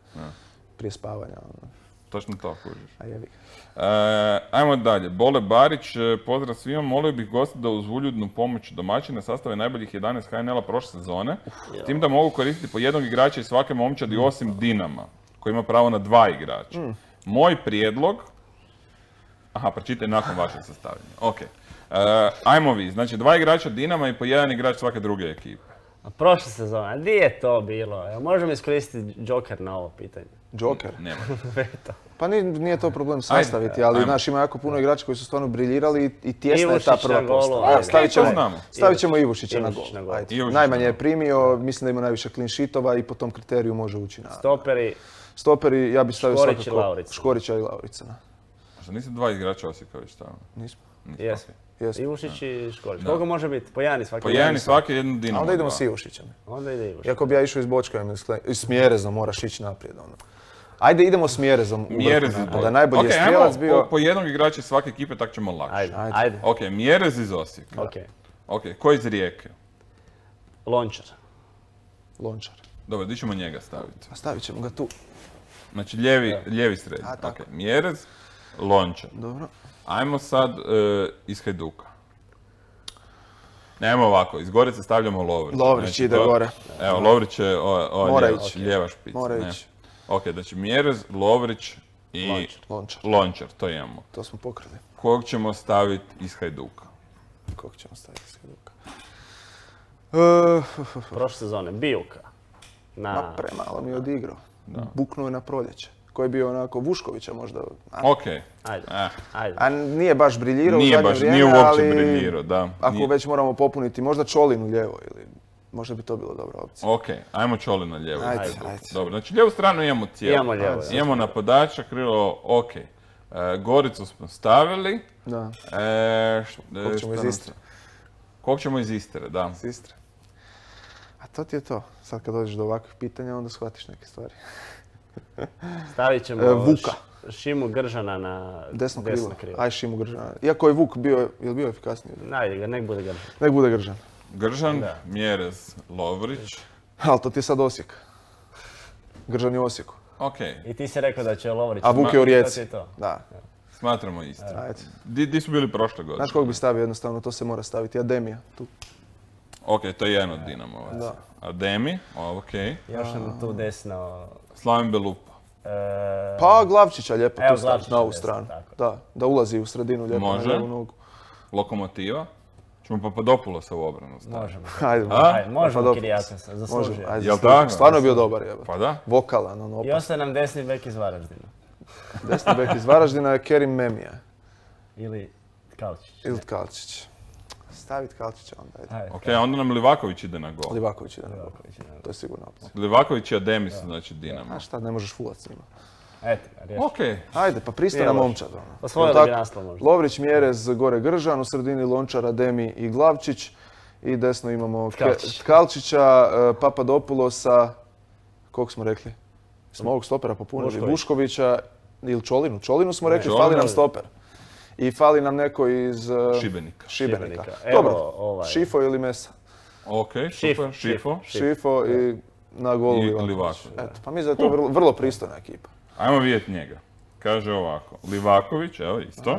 Prije spavanja. ono. točno to kužiš. A jebi. E, ajmo dalje. Bole Barić, e, pozdrav svima, molio bih gosta da uz uljudnu pomoć domaćina sastave najboljih jedanaest H N L-a prošle sezone, s tim da mogu koristiti po jednog igrača iz svake momčadi osim Dinama, koji ima pravo na dva igrača. Mm. Moj prijedlog... Aha, pročitaj nakon vašeg sastavljanja. Ok. E, ajmo vi, znači dva igrača Dinama i po jedan igrač svake druge ekipe. A prošle sezone, gdje je to bilo? Evo, možemo iskoristiti Joker na ovo pitanje. Joker? Nema. Veto. Pa nije, nije to problem sastaviti, ali ajmo. znaš, ima jako puno igrača koji su stvarno briljirali i, i tjesna je ta Ivušić prva na golu, postava. ajde. Evo, stavit ćemo, To znamo. stavit ćemo Ivušića na Ivušić na gol. gol. Ajde. Ivušić Najmanje na je gol. primio, mislim da ima najviše clean sheetova i po tom kriteriju može ući na... Stoperi, Stoperi, ja bih stavio Škorić i svakako Laurica. Škorića i Lauricana. Možda niste dva igrača Osijeka već stavili? Nismo. Niste, jesmo. ok. Jesmo. Ivušić i Škorić. Da. Koliko može biti? Po jedan i svaki? Po jedan i svaki jednu Dinamo. A onda idemo dva. s Ivušićem. Onda ide Ivušić. Iako bi ja išao iz Bočka i s Mjerezom, moraš ići naprijed. Ono. Ajde, idemo s Mjerezom u vrhu. Mjerez iz Da Bočka. najbolji Ok, je ajmo strijelac bio... po, po jednog igrača iz svake ekipe, tak ćemo lakše. Ajde, Ajde. ajde. Ok, Mjerez iz Osijeka. Ok. Ok, ko iz Rijeke? Lončar. Lončar. Dobro, di ćemo njega staviti? A stavit ćemo ga tu. Znači, lijevi, lijevi srednji. A, tako. Ok, Mjerez, Lončar. Dobro. Ajmo sad e, iz Hajduka. Nemo ovako, iz Gorice stavljamo Lovrić. Lovrić ide go- gore. Evo, Lovrić je o, o, Mora lijeva, ići. lijeva špica. Mora ne. ići. Ok, znači Mjerez, Lovrić i Lončar. Lončar. Lončar, to imamo. To smo pokrili. Kog ćemo staviti iz Hajduka? Kog ćemo staviti iz Hajduka? Uh, Prošle sezone. Bijuka. Na... ma premalo mi je odigrao. Buknuo je na proljeće. Koji je bio onako Vuškovića možda. A, Ok. Ajde. Eh, Ajde. a nije baš briljirao nije u zadnje baš, vrijeme, nije uopće ali briljirao, da. ako Nije- već moramo popuniti, možda Čolinu lijevo ili možda bi to bila dobra opcija. Ok, ajmo Čoli na lijevu. Ajde, Hajduka. ajde. Dobro, znači lijevu stranu imamo cijelu. Imamo lijevo, da. Imamo napadača, krilo, ok. E, Goricu smo stavili. Da, E, š- e, kog ćemo šta iz nam- Istre. Kog ćemo iz Istre, da. Iz Istre. A to ti je to. Sad kad dođeš do ovakvih pitanja, onda shvatiš neke stvari. Stavit ćemo E, Vuka. Š- Šimu Gržana na Desno krilo. desno krilo. Aj Šimu Gržana. Iako je Vuk bio, je li bio efikasniji? Najde ga, nek bude Gržan. Nek bude Gržan. Gržan, Da. Mjerez, Lovrić. Ali to ti je sad Osijek. Gržan je u Osijeku. Ok, I ti si rekao da će Lovrić... A Vuk je u To ti Rijeci. je to. Da. smatramo Istre. Ajde. Di, di su bili prošle godine? Znaš kog bi stavio jednostavno, to se mora staviti. Ademija. Tu. Ok, to je jedan od Dinamovaca. Da. Ademi, ok. Još nam tu desno... Slaven Belupa. e, Pa Glavčića lijepo Evo, tu staviti Glavčića na ovu desno, stranu. tako. Da, da ulazi u sredinu lijepo Može. na lijevu nogu. Lokomotiva. Ćemo Papadopoulosa u obranu staviti. Možemo. Ajde, A? Ajde, možemo Papadopoulos. Kirijakasa, zaslužio. Možemo, ajde. Jel zaslužio. tako? Stvarno je bio dobar jebe. Pa da. Vokalan, ono I opas. ostaje nam desni bek iz Varaždina. Desni bek iz Varaždina je Kerim Memija. Ili Kalčić. Ili Kalčić. Stavit Kalčića onda, ajde. Ajde. Ok, onda nam Livaković ide na gol. Livaković ide na gol. Livaković, ne. To je sigurna opcija. Livaković i Ademi su znači Dinamo. A šta, ne možeš fulat s njima. Eto ga, riješio. Ok, Ajde, pa pristojna Nije loše. momčad. Ono. Osvojili Jel bi tako? naslov možda. Lovrić, Mjerez, gore Gržan, u sredini Lončar, Ademi i Glavčić. I desno imamo Ke- Tkalčić. Tkalčića, e, Papadopoulosa, kog smo rekli? Smo ovog stopera popunili, Vušković. Vuškovića ili Čolinu. Čolinu smo rekli, Čolinu. fali nam stoper. I fali nam neko iz e, Šibenika. Šibenika. Šibenika. Evo, Dobro, ovaj. Šifo ili Mesa. Ok, Šif, super, Šifo. Šif. Šifo i na golu I Livaković. Livaković. Eto, pa mislim da je to vrlo, vrlo pristojna ekipa. Ajmo vidjeti njega. Kaže ovako, Livaković, evo isto.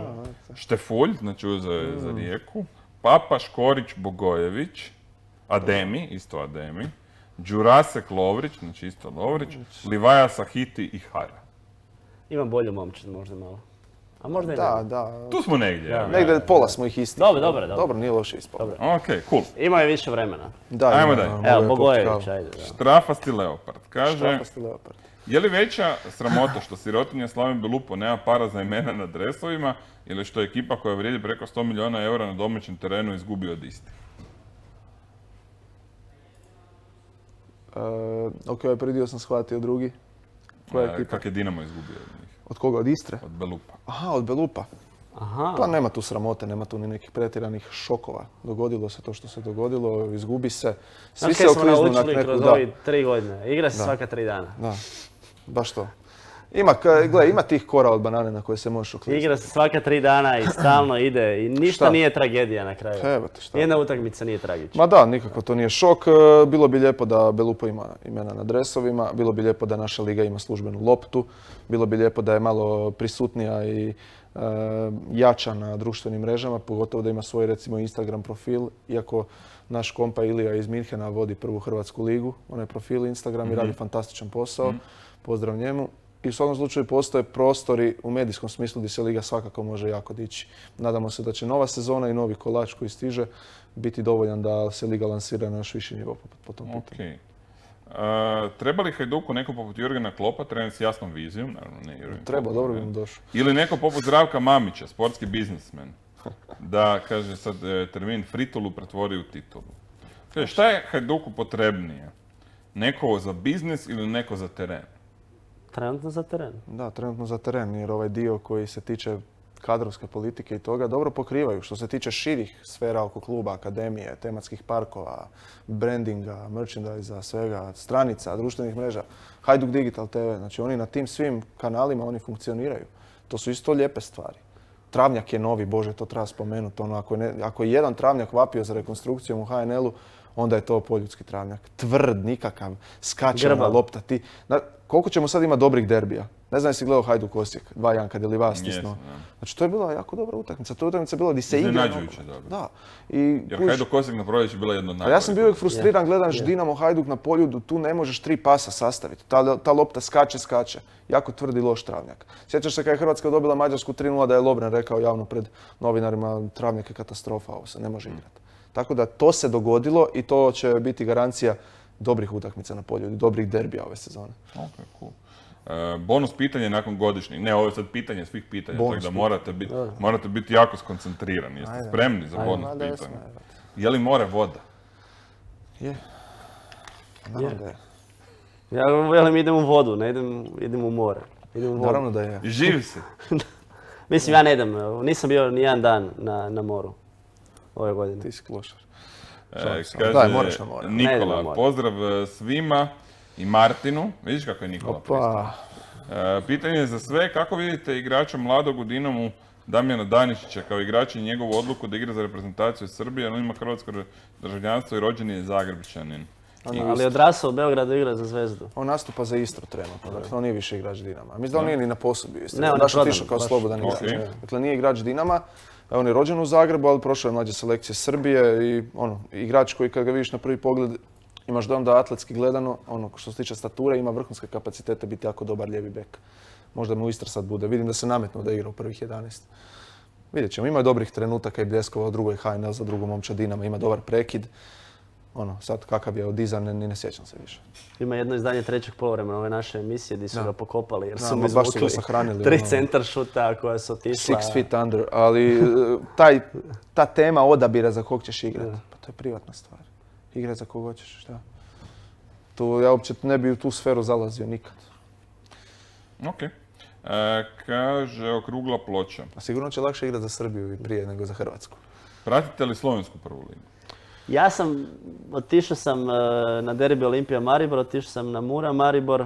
Štefulj, znači uzeo je za Rijeku. Papa, Škorić, Bogojević. Ademi, isto Ademi. Đurasek, Lovrić, znači isto Lovrić. Livaja, Sahiti i Hara. Ima bolju momčad možda malo. A možda i Da, ne. da. Tu smo negdje. Da. evo. Negdje pola smo ih isti. Dobro, dobro, dobro. Dobro, nije loše ispalo. Dobro. Ok, cool. Ima je više vremena. Da, Ajmo ima, dalje. mogao Evo, je popiti Bogojević, kavu. ajde. Da. Štrafasti Leopard. Kaže, Štrafasti Leopard. je li veća sramota što sirotinja Slaven Belupo nema para za imena na dresovima ili što je ekipa koja vrijedi preko sto milijuna eura na domaćem terenu izgubi od istih? E, ok, ovaj prvi dio sam shvatio, drugi. Koja je E, ekipa? Kak je Dinamo izgubio od njih? Od koga? Od Istre? Od Belupa. Aha, od Belupa. Aha. Pa nema tu sramote, nema tu ni nekih pretjeranih šokova. Dogodilo se to što se dogodilo, izgubi se. Svi Znaš se kaj smo okliznu na naučili neku... kroz Da, ovih tri godine? Igra se Da. svaka tri dana. da, baš to. Ima, ka- gle, ima tih kora od banane na koje se možeš uklizati. Igra se svaka tri dana i stalno ide i ništa Šta? nije tragedija na kraju. Evo te šta. Jedna utakmica nije tragična. Ma da, nikako to nije šok. E, Bilo bi lijepo da Belupo ima imena na dresovima, bilo bi lijepo da naša liga ima službenu loptu, bilo bi lijepo da je malo prisutnija i e, jača na društvenim mrežama, pogotovo da ima svoj recimo Instagram profil, iako naš kompa Ilija iz Minhena vodi prvu hrvatsku ligu, onaj profil Instagram i radi fantastičan posao, pozdrav njemu. I u svakom slučaju postoje prostori u medijskom smislu gdje se liga svakako može jako dići. Nadamo se da će nova sezona i novi kolač koji stiže biti dovoljan da se liga lansira na još viši nivo po, po tom pitanju. Okay. Uh, treba li Hajduku neko poput Jurgena Kloppa, trener s jasnom vizijom, naravno ne Jurgen Treba, Klopp, dobro ne. bi mu došao. Ili neko poput Zdravka Mamića, sportski biznismen, da, kaže sad e, termin, fritolu pretvori u titulu. Kaže, šta je Hajduku potrebnije? Neko za biznis ili neko za teren? Trenutno za teren. Da, trenutno za teren, jer ovaj dio koji se tiče kadrovske politike i toga dobro pokrivaju. Što se tiče širih sfera oko kluba, akademije, tematskih parkova, brandinga, merchandisa, svega, stranica, društvenih mreža, Hajduk Digital te ve, znači oni na tim svim kanalima oni funkcioniraju. To su isto lijepe stvari. Travnjak je novi, Bože, to treba spomenuti. Ono, ako, je ne, ako je jedan travnjak vapio za rekonstrukcijom u ha en el-u, onda je to poljudski travnjak. Tvrd, nikakav, skačena Grbav. lopta. Ti, na, koliko ćemo sad imati dobrih derbija? Ne znam jesi gledao Hajduk Osijek, dva jedan kad je Livas stisnuo. Jesam, da. Znači to je bila jako dobra utakmica. To je utakmica bila gdje se igra. Iznenađujuće dobro. Da. I, Jer kužiš, Hajduk Osijek na proljeću bila jedna od a najboljih. ja sam bio uvijek frustriran, gledaš Je. Dinamo Hajduk na poljudu, tu ne možeš tri pasa sastaviti. Ta, ta lopta skače, skače. Jako tvrdi loš travnjak. Sjećaš se kad je Hrvatska dobila Mađarsku tri nula da je Lovren rekao javno pred novinarima travnjak je katastrofa, ovo se ne može igrati. Tako da to se dogodilo i to će biti garancija dobrih utakmica na poljudu, dobrih derbija ove sezone. Ok, cool. E, bonus pitanje nakon godišnjih. Ne, ovo je sad pitanje svih pitanja, Bonus tako da pitanje. morate biti, morate biti jako skoncentrirani. Jeste Ajde. spremni za Ajde. bonus Ma da jesmo, pitanje? evo. Je li more voda? Je. Naravno da je. Ja velim idem u vodu, ne idem, idem u more. Idem u vodu. Naravno da je. I živi se. Mislim, ja ne idem, nisam bio ni jedan dan na, na moru ove godine. Ti si klošar. E, Šalim se. kaže Daj, moraš na more. Ne idem na Nikola, more. pozdrav e, svima i Martinu. Vidiš kako je Nikola pristao. Pa, E, pitanje je za sve, kako vidite igrača mladog u Dinamu Damjana Danišića kao igrača i njegovu odluku da igra za reprezentaciju Srbije, on ima hrvatsko državljanstvo i rođen je Zagrebčanin. I- Ali odrasao u Beogradu igra za Zvezdu. on nastupa za Istru trenutno, dakle on nije više igrač Dinama. Mislim da on nije ni na posudbi u Istri. Ne, on je baš prodan, otišao kao baš. slobodan Ok. igrač. Dakle nije igrač Dinama, on je rođen u Zagrebu, ali prošao je mlađe selekcije Srbije i ono, igrač koji kad ga vidiš na prvi pogled imaš dojam da atletski gledano, ono što se tiče stature, ima vrhunske kapacitete biti jako dobar lijevi bek. Možda mu Istra sad bude. Vidim da se nametnuo da igra u prvih jedanaest. Vidjet ćemo, ima drugih trenutaka i bljeskovao drugoj ha en el za drugu momča Dinama, ima dobar prekid. Ono, sad kakav je odizan, ni ne sjećam se više. Ima jedno izdanje trećeg poluvremena ove naše emisije gdje su Da. ga pokopali jer Da, su ma mu baš su ga izvukli sahranili, tri ono. centar šuta koja su otišla. Six feet under, ali e, taj, ta tema odabira za kog ćeš igrati, Da. pa to je privatna stvar. Igrati za kog hoćeš, šta? Tu, ja uopće ne bi u tu sferu zalazio nikad. Ok. E, kaže, okrugla ploča. A sigurno će lakše igrati za Srbiju i prije nego za Hrvatsku. Pratite li slovensku prvu ligu? Ja sam, otišao sam e, na derbi Olimpija Maribor, otišao sam na Mura Maribor,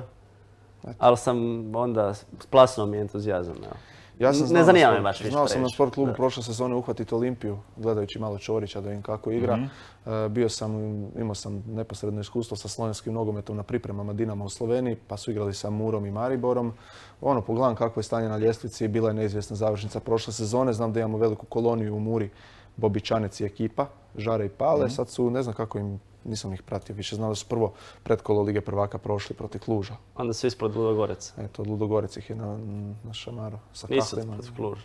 ali sam onda splasnuo mi entuzijazam. evo. Ja sam Ne znao zanima na me sport- baš više Znao sam na previše. sport klubu Da. prošle sezone uhvatiti Olimpiju, gledajući malo Čorića da vidim kako igra. E, bio sam, imao sam neposredno iskustvo sa slovenskim nogometom na pripremama Dinama u Sloveniji, pa su igrali sa Murom i Mariborom. Ono, pogledam kako je stanje na ljestvici, bila je neizvjesna završnica prošle sezone. Znam da imamo veliku koloniju u Muri, Bobičanec i ekipa, Žare i Pale. Sad su, ne znam kako im, nisam ih pratio više, znam da su prvo pretkolo Lige prvaka prošli protiv Kluža. Onda su ispod Ludogorec. Eto, Ludogorec ih je na, na šamaru sa Nisu kahlima. protiv Kluža,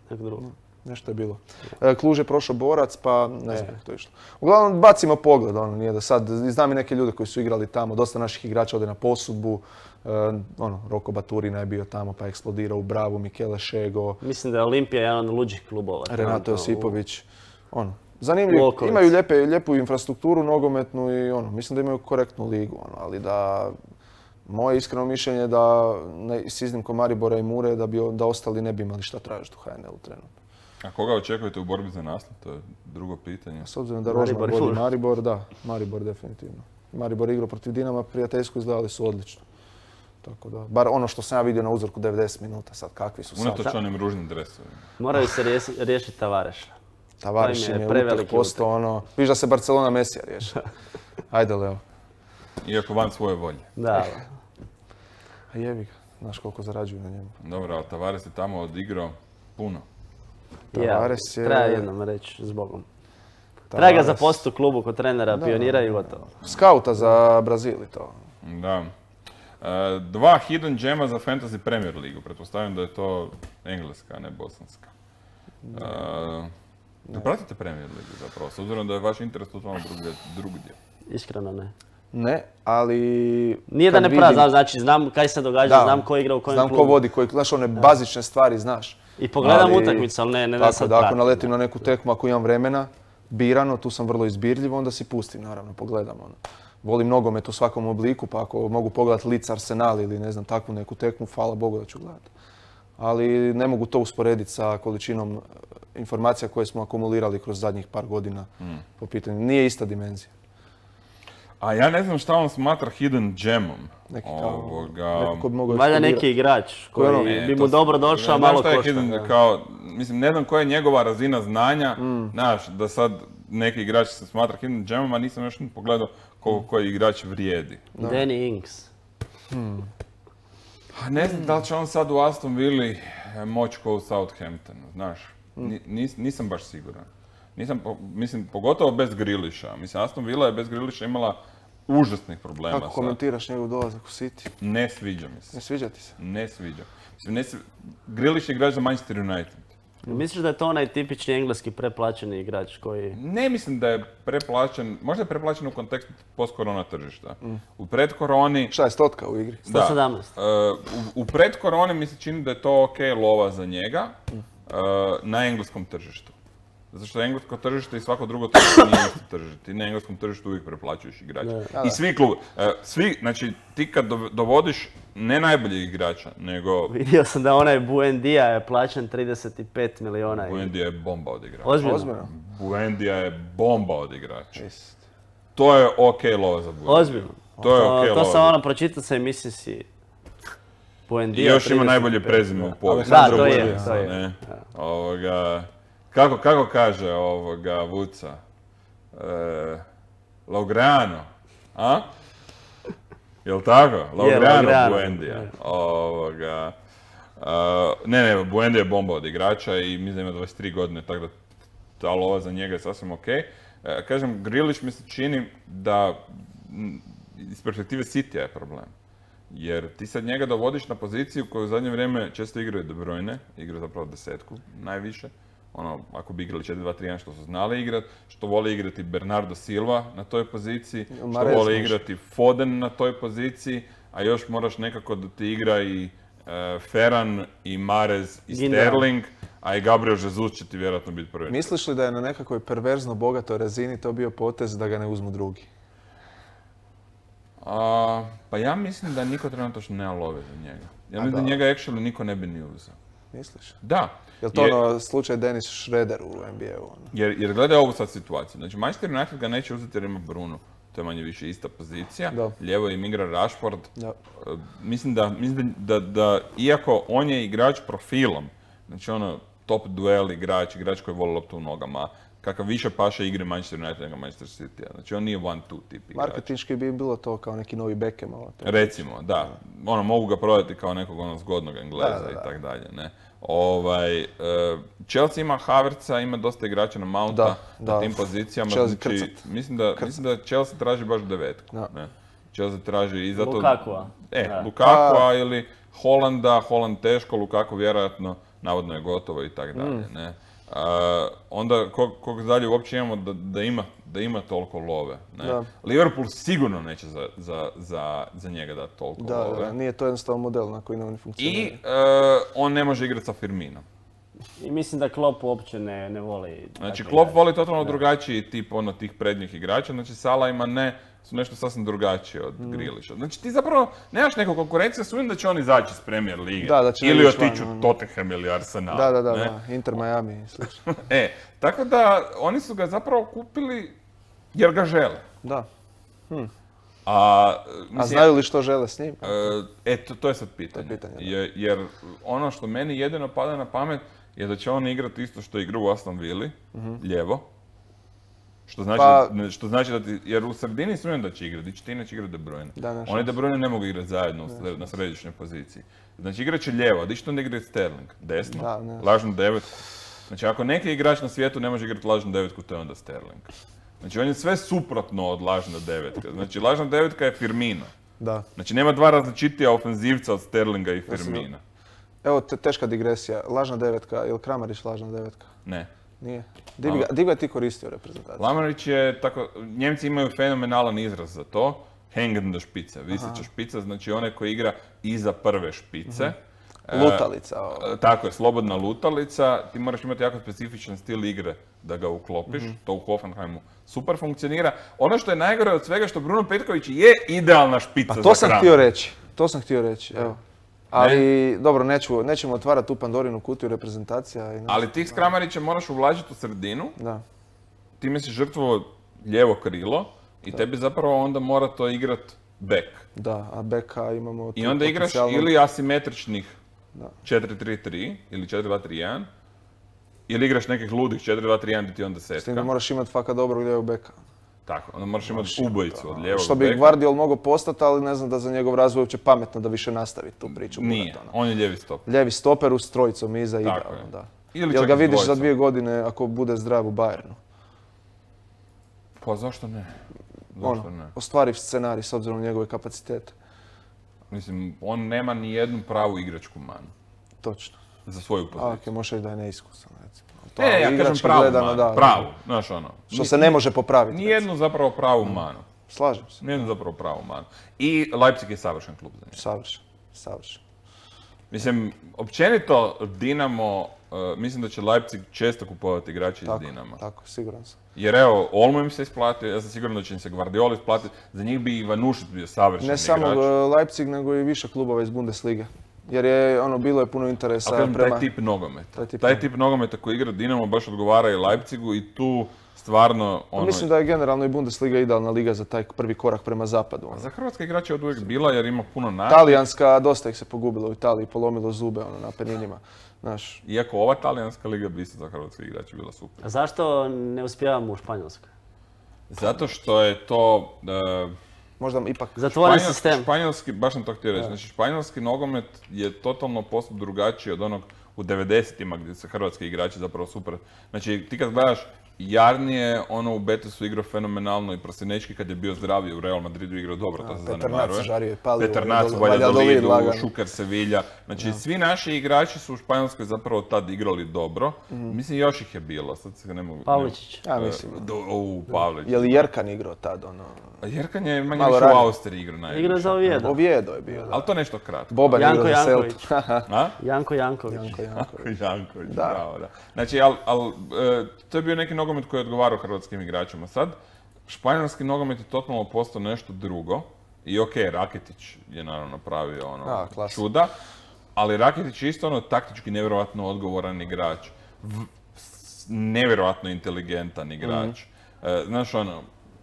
neko drugo. Nešto je bilo. E, Kluž je prošao Borac, pa ne znam kako to je išlo. Uglavnom, bacimo pogled, ono, nije da sad, znam i neke ljude koji su igrali tamo, dosta naših igrača ode na posudbu, e, ono, Roko Baturina je bio tamo pa je eksplodirao u Bravu, Michele Šego, Mislim da je Olimpija jedan od luđih klubova. Renato trenutno u- Josipović, ono. Zanimljivo, Volković. imaju lijepe, lijepu infrastrukturu nogometnu i ono, mislim da imaju korektnu ligu, ono, ali da moje iskreno mišljenje da ne, s iznimkom Maribora i Mure da bi da ostali ne bi imali šta tražiti u ha en el-u trenutno. A koga očekujete u borbi za naslov? To je drugo pitanje. S obzirom da Rožman Maribor i vodi Mura. Maribor, da, Maribor definitivno. Maribor igrao protiv Dinama, prijateljsku izgledali su odlično. Tako da, bar ono što sam ja vidio na uzorku devedeset minuta, sad kakvi su sad. Unatoč onim ružnim dresovima. Moraju se rijesi- riješiti Tavareša. Tavares im je preveliki utak posto, ono, viš da se Barcelona Mesija riješi. Ajde, Leo. Iako van svoje volje. Da. A jebi ga, znaš koliko zarađuju na njemu. Dobro, ali Tavares je tamo odigrao puno. Tavares je... je- Treba jednom reći zbogom. Treba ga Tavares- zaposliti u klubu kod trenera, Da, pionira i da. gotovo. Skauta za Brazil i to. Da. E, dva hidden gema za Fantasy Premier ligu. Pretpostavljam da je to engleska, a ne bosanska. E, ne pratite Premier ligu zapravo, s obzirom da je vaš interes totalno drugdje. Iskreno ne. Ne, ali... Nije da kad ne pravi, vidim- znači znam kaj se događa, Da, znam ko igra u kojem znam klubu. ko vodi, koji, znaš, one bazične stvari znaš. I pogledam Ali- utakmicu, ali ne, ne da Tako sad da ako pratim. naletim na neku tekmu, ako imam vremena, birano, tu sam vrlo izbirljiv, onda si pustim, naravno, pogledam. Ono. Volim nogomet u svakom obliku, pa ako mogu pogledati Leeds Arsenal ili ne znam, takvu neku tekmu, hvala Bogu da ću gledati. Ali ne mogu to usporediti sa količinom e, informacija koje smo akumulirali kroz zadnjih par godina po pitanju. Nije ista dimenzija. A ja ne znam šta on smatra hidden gemom. Neki kao, Ovoga... neko ko bi mogao Valjda eksplodirati. neki igrač Koji ono- koji E, bi to mu s- dobro došao, Znaš malo šta je košta. hidden, da. kao, mislim, ne znam koja je njegova razina znanja, znaš, da sad neki igrač se smatra hidden gemom, a nisam još ni pogledao koliko koji igrač vrijedi. Danny Ings. A ne znam da li će on sad u Aston Villi e, moći ko u Southamptonu, znaš. Ni- nis- nisam baš siguran. Nisam, po- mislim, pogotovo bez Grealisha. Mislim, Aston Villa je bez Grealisha imala užasnih problema. Kako sa- komentiraš njegov dolazak u City? Ne sviđa mi se. Ne sviđa ti se? Ne sviđa. Mislim, ne svi... Grealish je igrač za Manchester United. Misliš da je to onaj tipični engleski preplaćeni igrač koji... Ne mislim da je preplaćen, možda je preplaćen u kontekstu post-korona tržišta. U predkoroni... Šta je stotka u igri? Da. sto sedamnaest. E, u, u predkoroni mi se čini da je to ok lova za njega e, na engleskom tržištu. Zato što englesko tržište i svako drugo tržište nije isto tržište. Ti na engleskom tržištu uvijek preplaćuješ igrača. I svi klubi, e, svi, znači ti kad dov- dovodiš ne najboljeg igrača, nego Vidio sam da onaj Buendija je plaćen trideset pet miliona. Buendija je bomba od igrača. Ozbiljno. Ozbiljno? Buendija je bomba od igrača. Jest. To je ok lova za Buendiju. Ozbiljno. To je ok To lova. sam ono pročitao sa emisije si I Buendija. još ima trideset najbolje pet. prezime u povijesti. Da, to Buendija, je, to je. ne? Ovoga, kako, kako kaže ovoga Vuca? E, Laugrano, a? Jel tako? Laugrano Laugrano, Buendija. je. Ovoga, a, ne, ne, Buendija je bomba od igrača i mislim da ima dvadeset tri godine, tako da ta lova za njega je sasvim ok. E, kažem, Grealish mi se čini da m, iz perspektive City je problem. Jer ti sad njega dovodiš na poziciju koju u zadnje vrijeme često igraju De Bruyne, igra zapravo desetku najviše. Ono, ako bi igrali četiri dva tri jedan što su znali igrat, što vole igrati Bernardo Silva na toj poziciji, što Mahrez vole može. igrati Foden na toj poziciji, a još moraš nekako da ti igra i e, Ferran, i Mahrez, i Gindogan. Sterling, a i Gabriel Jesus će ti vjerojatno biti prvi. Misliš li da je na nekakvoj perverzno bogatoj razini to bio potez da ga ne uzmu drugi? A, pa ja mislim da niko trenutno nema love za njega. Ja A mislim da da. njega actually niko ne bi ni uzeo. Misliš? Da. Je li to Je- ono slučaj Dennis Schroeder u N B A-u? Ono? Jer, jer gledaj ovu sad situaciju. Znači, Manchester United ga neće uzeti jer ima Bruno. To je manje više ista pozicija. Da. Lijevo im igra Rashford. Da. E, Mislim da, mislim da, da, da, iako on je igrač profilom, znači ono, top duel igrač, igrač koji voli loptu u nogama, kakav više paše igre Manchester United nego Manchester City. Znači on nije one two tip igrač. Marketinški bi bilo to kao neki novi Beckham. Ovo, to. Recimo, da. Ono, mogu ga prodati kao nekog ono zgodnog Engleza Da, da, da. i tak dalje, ne. Ovaj, e, Chelsea ima Havertza, ima dosta igrača na Mounta Da, na da. tim pozicijama. Chelsea znači, krcat. mislim, da, mislim da Chelsea traži baš devetku. Da. Ne. Chelsea traži i zato... Lukakua. E, Da. Lukakua ili Holanda, Holland teško, Lukaku vjerojatno, navodno je gotovo i tak dalje, Mm. ne. A, onda kog, kog dalje uopće imamo da, da, ima, da ima toliko love, ne. Da. Liverpool sigurno neće za, za, za, za njega dati toliko Da, love. da, nije to jednostavno model na koji oni I funkcioniraju. e, on ne može igrati sa Firminom. I mislim da Klopp uopće ne, ne voli... Znači, takve Klopp igrače. voli totalno drugačiji tip ono tih prednjih igrača, znači Salah ima ne, su nešto sasvim drugačije od Mm. Grealisha. Znači ti zapravo nemaš neku konkurenciju, sumnjam da će oni izaći iz Premier lige. Da, da će ili ići van, otići u ono. Tottenham ili Arsenal. Da, da, da, ne? da, Inter Miami i slično. E, tako da oni su ga zapravo kupili jer ga žele. Da. A, mislim, A znaju li što žele s njim? E, to, to je sad pitanje. To je pitanje, da. Je- jer ono što meni jedino pada na pamet je da će on igrati isto što igra u Aston Villi, lijevo. Što znači, Pa- da, što znači da ti, jer u sredini sumnjam da će igrati, di će ti inače igrati De Bruyne. Da, ne, Oni šanse. De Bruyne ne mogu igrati zajedno u sre- na središnjoj poziciji. Znači igrat će lijevo, a di će to onda igrati Sterling? Desno? Da, ne. Lažnu devetku. Znači ako neki igrač na svijetu ne može igrati lažnu devetku, to je onda Sterling. Znači on je sve suprotno od lažne devetke. Znači lažna devetka je Firmino. Da. Znači nema dva različitija ofenzivca od Sterlinga i Firmina. Evo, te, teška digresija. Lažna devetka, je li Kramarić lažna devetka? Ne. Nije. Di bi ga, di bi ga ti koristio u reprezentaciji? Lamarić je tako, Njemci imaju fenomenalan izraz za to. Hangende špice, viseća špica, znači onaj koji igra iza prve špice. E, Lutalica. ovo. e, tako je, slobodna lutalica. Ti moraš imati jako specifičan stil igre da ga uklopiš. To u Hoffenheimu super funkcionira. Ono što je najgore od svega što Bruno Petković je idealna špica Pa za to sam Kramarića. htio reći. To sam htio reći, evo. Ali, dobro, neću, nećemo otvarati tu Pandorinu kutiju reprezentacija. I Ali ti s Kramarićem moraš uvlačiti u sredinu, Da. time si žrtvovo lijevo krilo i tebi zapravo onda mora to igrat back. Da, a beka imamo... I tu onda igraš potencijalno- ili asimetričnih Da. četiri tri tri ili četiri dva tri jedan, ili igraš nekih ludih četiri dva tri jedan gdje ti onda S tim da setka. moraš imati faka dobrog lijevog beka. Tako, onda moraš imati ubojicu od lijevog Što bi beka. Guardiol mogao postati, ali ne znam da za njegov razvoj uopće pametno da više nastavi tu priču. Nije, Muratona. on je lijevi stop. Lijevi stoper s trojicom iza, Tako idealno, je. da. Ili Jel čak ga s vidiš za dvojicom. dvije godine ako bude zdrav u Bayernu? Pa zašto ne? Zašto Ono, ne? ostvariv scenarij s obzirom na njegove kapacitete. Mislim, on nema ni jednu pravu igračku manu Točno. za svoju A, poziciju. ok, možeš reći da je neiskusan, recimo. To, E, ali ja kažem igrački pravu gledano, manu, da, pravu, znaš ono. Što se ne može popraviti. recimo. Nijednu zapravo pravu manu. Slažem se. Nijednu zapravo pravu manu. I Leipzig je savršen klub za njega. Savršen. Savršen. Mislim, općenito Dinamo, uh, mislim da će Leipzig često kupovati igrače Tako, iz Dinama. tako, siguran sam. Jer evo, Olmo im se isplatio, ja sam siguran da će im se Guardiola isplatiti, za njih bi i Ivanušić bio savršen Ne igrač. samo uh, Leipzig, nego i više klubova iz Bundeslige. Jer je, ono, bilo je puno interesa Ali kažem, prema... taj tip nogometa. Taj tip Taj tip nogometa koji igra Dinamo baš odgovara i Leipzigu i tu stvarno ono... Mislim da je generalno i Bundesliga idealna liga za taj prvi korak prema zapadu. ono. Za hrvatske igrače je od uvijek bila jer ima puno nada. Talijanska, dosta ih se pogubilo u Italiji, polomilo zube ono, na Apeninima. Znaš, Iako ova talijanska liga bi isto za hrvatske igrače bila super. A zašto ne uspijevamo u Španjolskoj? Zato što je to... e, možda ipak... Zatvoren Španjol- sistem. Španjolski, baš sam to htio reći, znači španjolski nogomet je totalno postup drugačiji od onog u devedesetima gdje se hrvatski igrači zapravo super... Znači ti kad gledaš, Jarnije, ono u Betisu igrao fenomenalno i Prosinečki kad je bio zdraviji u Real Madridu igrao dobro, to se Petar zanemaruje. Nac žario i palio, Petar Nac u Valladolid- Valladolidu, lagano. Šuker Sevilla. Znači svi naši igrači su u Španjolskoj zapravo tad igrali dobro. Mislim još ih je bilo, sad se ne mogu... Pavličić. Ja mislim. E, do- U, Pavlić. Je li Jerkan igrao tad, ono... A Jerkan je manje Malo više u ranije. Austriji igrao najviše. Igra za Oviedo. Oviedo je bio, da. Ali to nešto kratko. Boban je Janko igrao za Janković. Celtu. A? Janko Janković. Janko Janković. Janković, Da. bravo, da. Znači, al, al, e, to je bio neki nogomet koji je odgovarao hrvatskim igračima. Sad, španjolski nogomet je totalno postao nešto drugo. I okej, Raketić je naravno napravio ono A, klasa. čuda, ali Raketić je isto ono taktički nevjerojatno odgovoran igrač. V, s- nevjerojatno inteligentan igrač. E, znaš ono,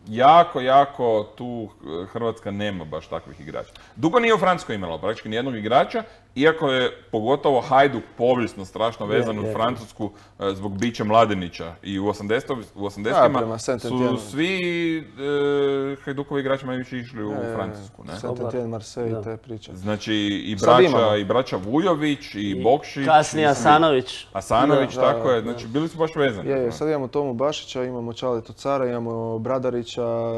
jako, jako tu eh, Hrvatska nema baš takvih igrača. Dugo nije u Francuskoj imala praktički nijednog igrača, iako je pogotovo Hajduk povijesno strašno vezan Je, u je. Francusku eh, zbog bića Mladenića. I u osamdesetima u Da, osamdesetima prema su Saint-Étienne. svi eh, Hajdukovi igrači manje više išli u Francusku. Ne? Saint-Étienne, Marseille, Da. te priče. Znači i Sad imamo. braća, i braća Vujović, i, Bokšić. Kasnije i svi. Asanović. Asanović, Da, tako da, je. Znači bili su baš vezani. Je, je, sad imamo Tomu Bašića, imamo Čaletu Cara, imamo Bradarića.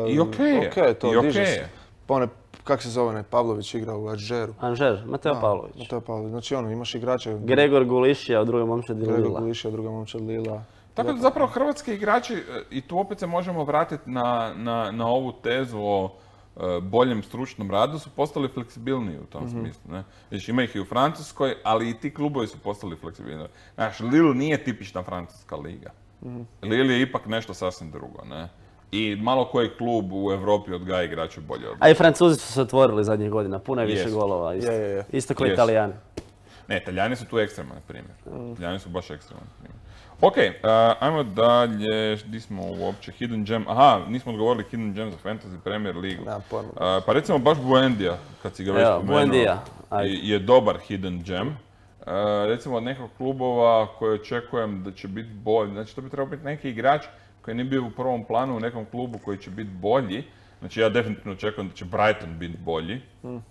I okej je, Okej, to i okej diže je. se. Pa one, kak se zove, onaj Pavlović igra u Ažeru. Anžer, Mateo Pavlović. To je Pavlović. Znači ono, imaš igrače. Gregor Gulišija u drugoj momčadi Gregor Lila. Gulišija, druga momčad Lila. Tako da zapravo hrvatski igrači, e, i tu opet se možemo vratiti na, na, na ovu tezu o e, boljem stručnom radu, su postali fleksibilniji u tom smislu. Ne? Znači, ima ih i u Francuskoj, ali i ti klubovi su postali fleksibilni. Znaš, Lille nije tipična francuska liga. Lille je ipak nešto sasvim drugo. Ne? I malo koji klub u Europi odgaja igrače bolje od... A i Francuzi su se otvorili zadnjih godina, puno je više Jesu. golova. Isto, Je, je, je. isto kao Jesu. Italijani. Ne, Italijani su tu ekstreman primjer. Italijani su baš ekstreman primjer. Ok, uh, ajmo dalje, gdje smo uopće, Hidden Gem, aha, nismo odgovorili Hidden Gem za Fantasy Premier Ligu. Nemam pojma. Uh, pa recimo baš Buendija, kad si ga već Evo, spomenuo, Buendija, ajde. je, je dobar Hidden Gem. Uh, recimo od nekog klubova koje očekujem da će biti bolji, znači to bi trebao biti neki igrač koji nije bio u prvom planu u nekom klubu koji će biti bolji. Znači ja definitivno očekujem da će Brighton biti bolji. Mm. Uh,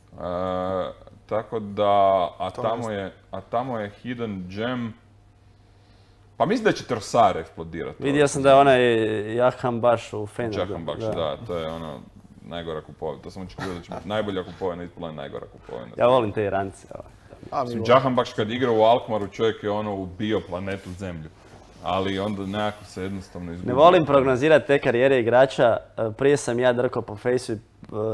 tako da, a tamo, je, a tamo je Hidden Gem. Pa mislim da će Trossard eksplodirati. Vidio sam da je onaj Jahan baš u Feneru. Jahan baš, da. da, to je ono najgora kupovina. To sam očekivao da će biti najbolja kupovina, ispala je najgora kupovina. Ja volim te Irance. Jahan baš kad igra u Alkmaru čovjek je ono ubio planetu Zemlju. Ali onda nekako se jednostavno izgubio. Ne volim prognozirati te karijere igrača. Prije sam ja drkao po fejsu i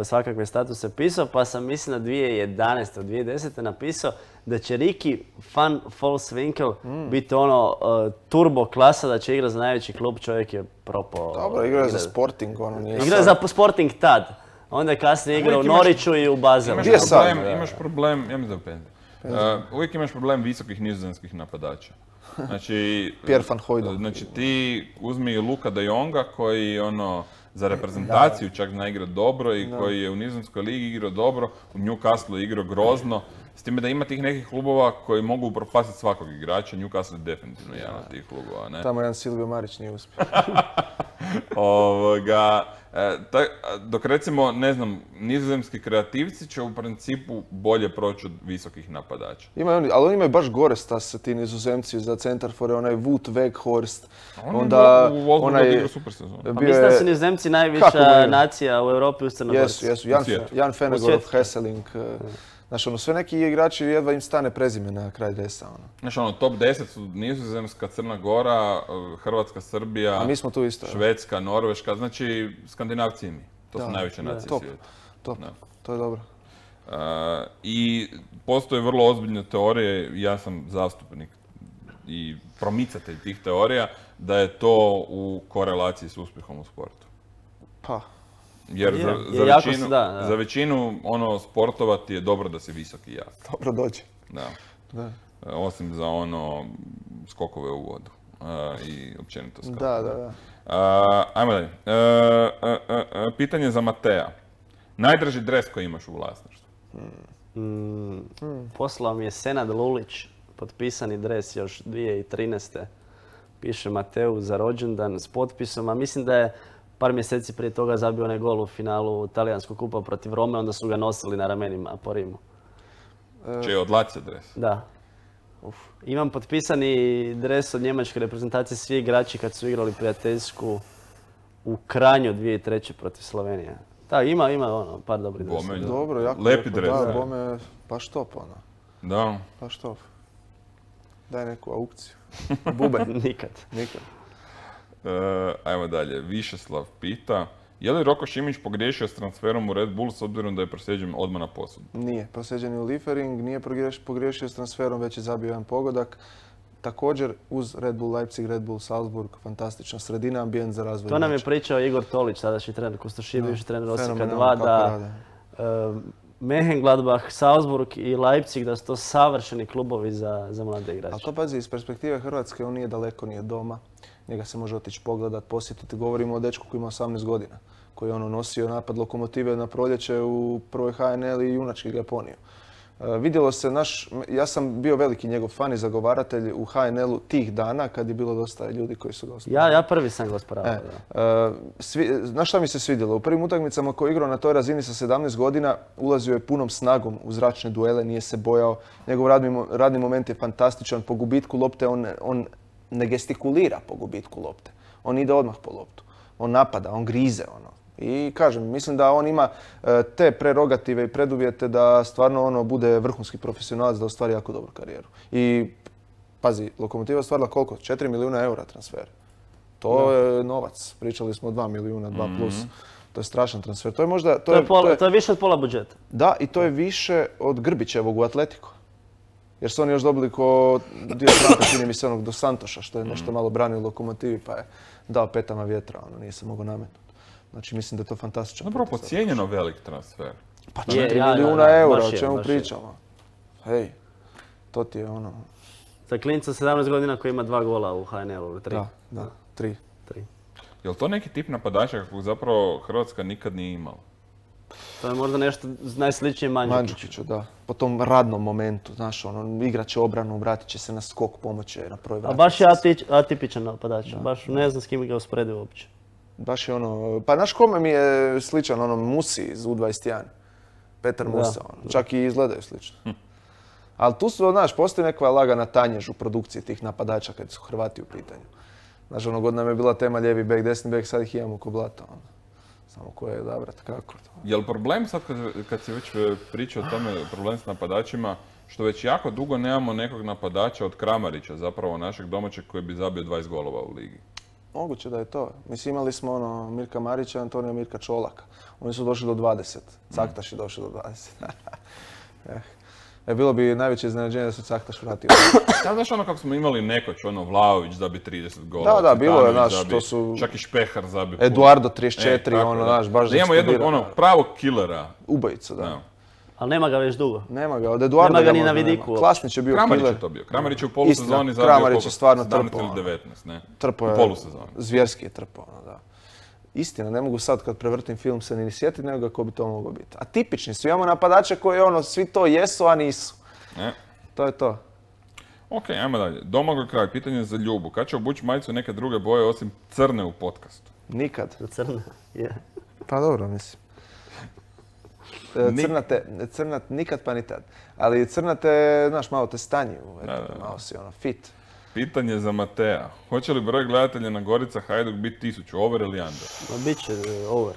svakakve statuse pisao, pa sam mislim na dvije tisuće jedanaeste. dvije tisuće desete. napisao da će Ricky van Volswinkel mm. biti ono uh, turbo klasa, da će igrati za najveći klub, čovjek je propao. Dobro, igra je za Sporting, ono nije... Igra je za Sporting tad. Onda je kasnije igrao u Norwichu i u Baselu. Imaš problem, imaš problem, ja mi znam Penza. Uh, uvijek imaš problem visokih nizozemskih napadača. Znači, Pierre van Hooijdonk. Znači ti uzmi Luka de Jonga koji ono za reprezentaciju čak zna igrati dobro i koji je u nizozemskoj ligi igrao dobro, u Newcastle igrao grozno. S time da ima tih nekih klubova koji mogu upropastiti svakog igrača, Newcastle je definitivno jedan od tih klubova, ne? Tamo jedan Silvio Marić nije uspio. Ovoga, e, taj, dok recimo, ne znam, nizozemski kreativci će u principu bolje proći od visokih napadača. Ima oni, ali oni imaju baš gore stas, ti nizozemci za centarfore, onaj Wout Weghorst. Onda u Wolfsburgu odigrao super sezonu. Pa mislim da su nizozemci najviša nacija u Europi uz Crnogorci. Jesu, jesu. Jan, Jan Fenegorov, Hesselink. Znaš, ono, sve neki igrači jedva im stane prezime na kraj dresa, ono. Znaš, ono, top deset su Nizozemska, Crna Gora, Hrvatska, Srbija, a mi smo tu isto, Švedska, Norveška, znači Skandinavci i mi. To da, su najveće nacije top, svijeta. Top, to je dobro. Uh, I postoje vrlo ozbiljne teorije, ja sam zastupnik i promicatelj tih teorija, da je to u korelaciji s uspjehom u sportu. Pa. Jer je, za, je za, većinu, da, da. za većinu ono, sportova ti je dobro da si visoki jak. Dobro dođe. Da. Da. Osim za ono skokove u vodu uh, i općenito skakove. Da, da, da. Uh, ajmo dalje. Uh, uh, uh, uh, pitanje za Matea. Najdraži dres koji imaš u vlasništvu? Mm. Mm. Poslao mi je Senad Lulić, potpisani dres još dvije tisuće trinaeste. Piše Mateu za rođendan s potpisom, a mislim da je par mjeseci prije toga zabio onaj gol u finalu talijanskog kupa protiv Rome, onda su ga nosili na ramenima po Rimu. Če je od Lazio dres? Da. Uf. Imam potpisani dres od njemačke reprezentacije, svi igrači kad su igrali prijateljsku u Kranju dvije tisuće treće. protiv Slovenije. Da, ima, ima ono, par dobrih dresa. Dobro, jako lepi lijepo, dres. Da, bome, baš top, ono. Da. Baš top. Daj neku aukciju. Bube. Nikad. Nikad. Uh, ajmo dalje. Višeslav pita, je li Roko Šimić pogriješio s transferom u Red Bull s obzirom da je proslijeđen odmah na posud? Nije. Proslijeđen je u Liefering, nije pogriješio s transferom, već je zabio jedan pogodak. Također uz Red Bull Leipzig, Red Bull Salzburg, fantastična sredina, ambijent za razvoj. To nam je pričao Igor Tolić, tadašnji trener Kustoši, bivši trener Osijeka dva, da uh, Mönchengladbach, Salzburg i Leipzig, da su to savršeni klubovi za, za mlade igrače. A to pazi, iz perspektive Hrvatske, on nije daleko, nije doma. Njega se može otići pogledat, posjetiti. Govorimo o dečku koji ima osamnaest godina, koji je ono nosio napad Lokomotive na proljeće u prvoj H N L i junački ga je ponio. E, vidjelo se naš, ja sam bio veliki njegov fan i zagovaratelj u H N L-u tih dana kad je bilo dosta ljudi koji su ga osporavali. Ja, ja prvi sam ga osporavao. E, e, svi, znaš šta mi se svidjelo? U prvim utakmicama koji je igrao na toj razini sa sedamnaest godina ulazio je punom snagom u zračne duele, nije se bojao. Njegov radni, radni moment je fantastičan. Po gubitku lopte on, on ne gestikulira po gubitku lopte. On ide odmah po loptu. On napada, on grize. Ono. I kažem, mislim da on ima e, te prerogative i preduvjete da stvarno ono bude vrhunski profesionalac, da ostvari jako dobru karijeru. I pazi, Lokomotiva ostvarila koliko? četiri milijuna eura transfer. To da. je novac. Pričali smo o dva milijuna, dva plus. Mm-hmm. To je strašan transfer. To je možda... To, to, je, pola, to, je, to je više od pola budžeta. Da, i to je više od Grbićevog u Atletiku. Jer su oni još dobili ko dio Franka, čini mi se onog do Santoša, što je nešto malo branio Lokomotivi, pa je dao petama vjetra, ono, nije se mogao nametnuti. Znači, mislim da je to fantastično. Dobro, pocijenjeno velik transfer. Pa četiri milijuna eura, o čemu pričamo? Hej, to ti je ono... Za klinca sedamnaest godina koji ima dva gola u H N L-u ili tri. Da, da, tri. tri. Je li to neki tip napadača kakvog zapravo Hrvatska nikad nije imala? To je možda nešto najsličnije Mandžukiću. Mandžukiću, da. Po tom radnom momentu, znaš, ono, igrat će obranu, vratit će se na skok, pomoće na prvoj A vrati. baš je atič, atipičan napadač, baš ne znam s kim ga usporedio uopće. Baš je ono, pa znaš kome mi je sličan, ono, Musi iz U dvadeset jedan. Petar Da, Musa, ono, čak i izgledaju slično. Hm. Ali tu su, znaš, postoji neka lagana tanjež u produkciji tih napadača kad su Hrvati u pitanju. Znaš, ono god nam je bila tema lijevi bek, desni bek, sad ih imamo ko blata, ono. Samo koje je odabrati, kako to? Je li problem sad kad, kad si već pričao o tome, problem s napadačima, što već jako dugo nemamo nekog napadača od Kramarića, zapravo našeg domaćeg koji bi zabio dvadeset golova u ligi? Moguće da je to. Mislim, imali smo ono Mirka Marića, Antonija Mirka Čolaka. Oni su došli do dvadeset. Caktaš je došao do dvadeset. eh. E, bilo bi najveće iznenađenje da se Caktaš vratio. Ja, znaš ono kako smo imali nekoć, ono Vlaović zabi trideset golova. Da, da, bilo je, Citanović znaš, zabi, to su... Čak i Špehar zabi puno. Eduardo trideset četiri, E, tako ono, da. znaš, baš da imamo jednog eksplodira. ono pravog killera. Ubojica, da. Evo. Ali nema ga već dugo. Nema ga, od Eduarda Nema ga ni možda na vidiku nema. Klasnić je bio Kramarić killer. je to bio. Kramarić je u polusezoni Istina, zabio Kramarić koliko? je stvarno sedamnaest trpao, ili ono. devetnaest, ne? Trpao U je, polusezoni. zvjerski je trpao, ono, da. Istina, ne mogu sad kad prevrtim film se ni sjetiti nego ga ko bi to moglo biti. A tipični su, imamo napadače koji ono, svi to jesu, a nisu. E. To je to. Ok, ajmo dalje. Domagoj Kralj, pitanje za Ljubu. Kad će obući majicu neke druge boje osim crne u podcastu? Nikad. Crna, je. Pa dobro, mislim. E, Crna te, crna nikad pa ni tad. Ali crna te, znaš, malo te stanji, Da, da, da. malo si ono fit. Pitanje za Matea. Hoće li broj gledatelja na Gorica Hajduk biti tisuću, over ili under? Ma bit će e, over.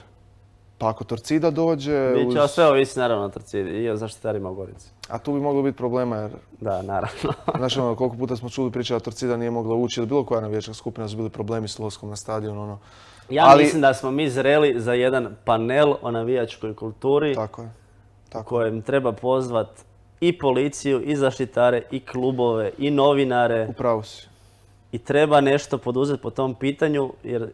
Pa ako Torcida dođe, Bit uz... će, a sve ovisi naravno o Torcidi i o zaštitarima u Gorici. a tu bi moglo biti problema jer, Da, naravno. znaš, ono, koliko puta smo čuli priče da Torcida nije mogla ući, ili bilo koja navijačka skupina su bili problemi s ulaskom na stadion, ono. Ja Ali- mislim da smo mi zreli za jedan panel o navijačkoj kulturi Tako je. Tako. kojem treba pozvat i policiju, i zaštitare, i klubove, i novinare. Upravo si. I treba nešto poduzeti po tom pitanju, jer uh,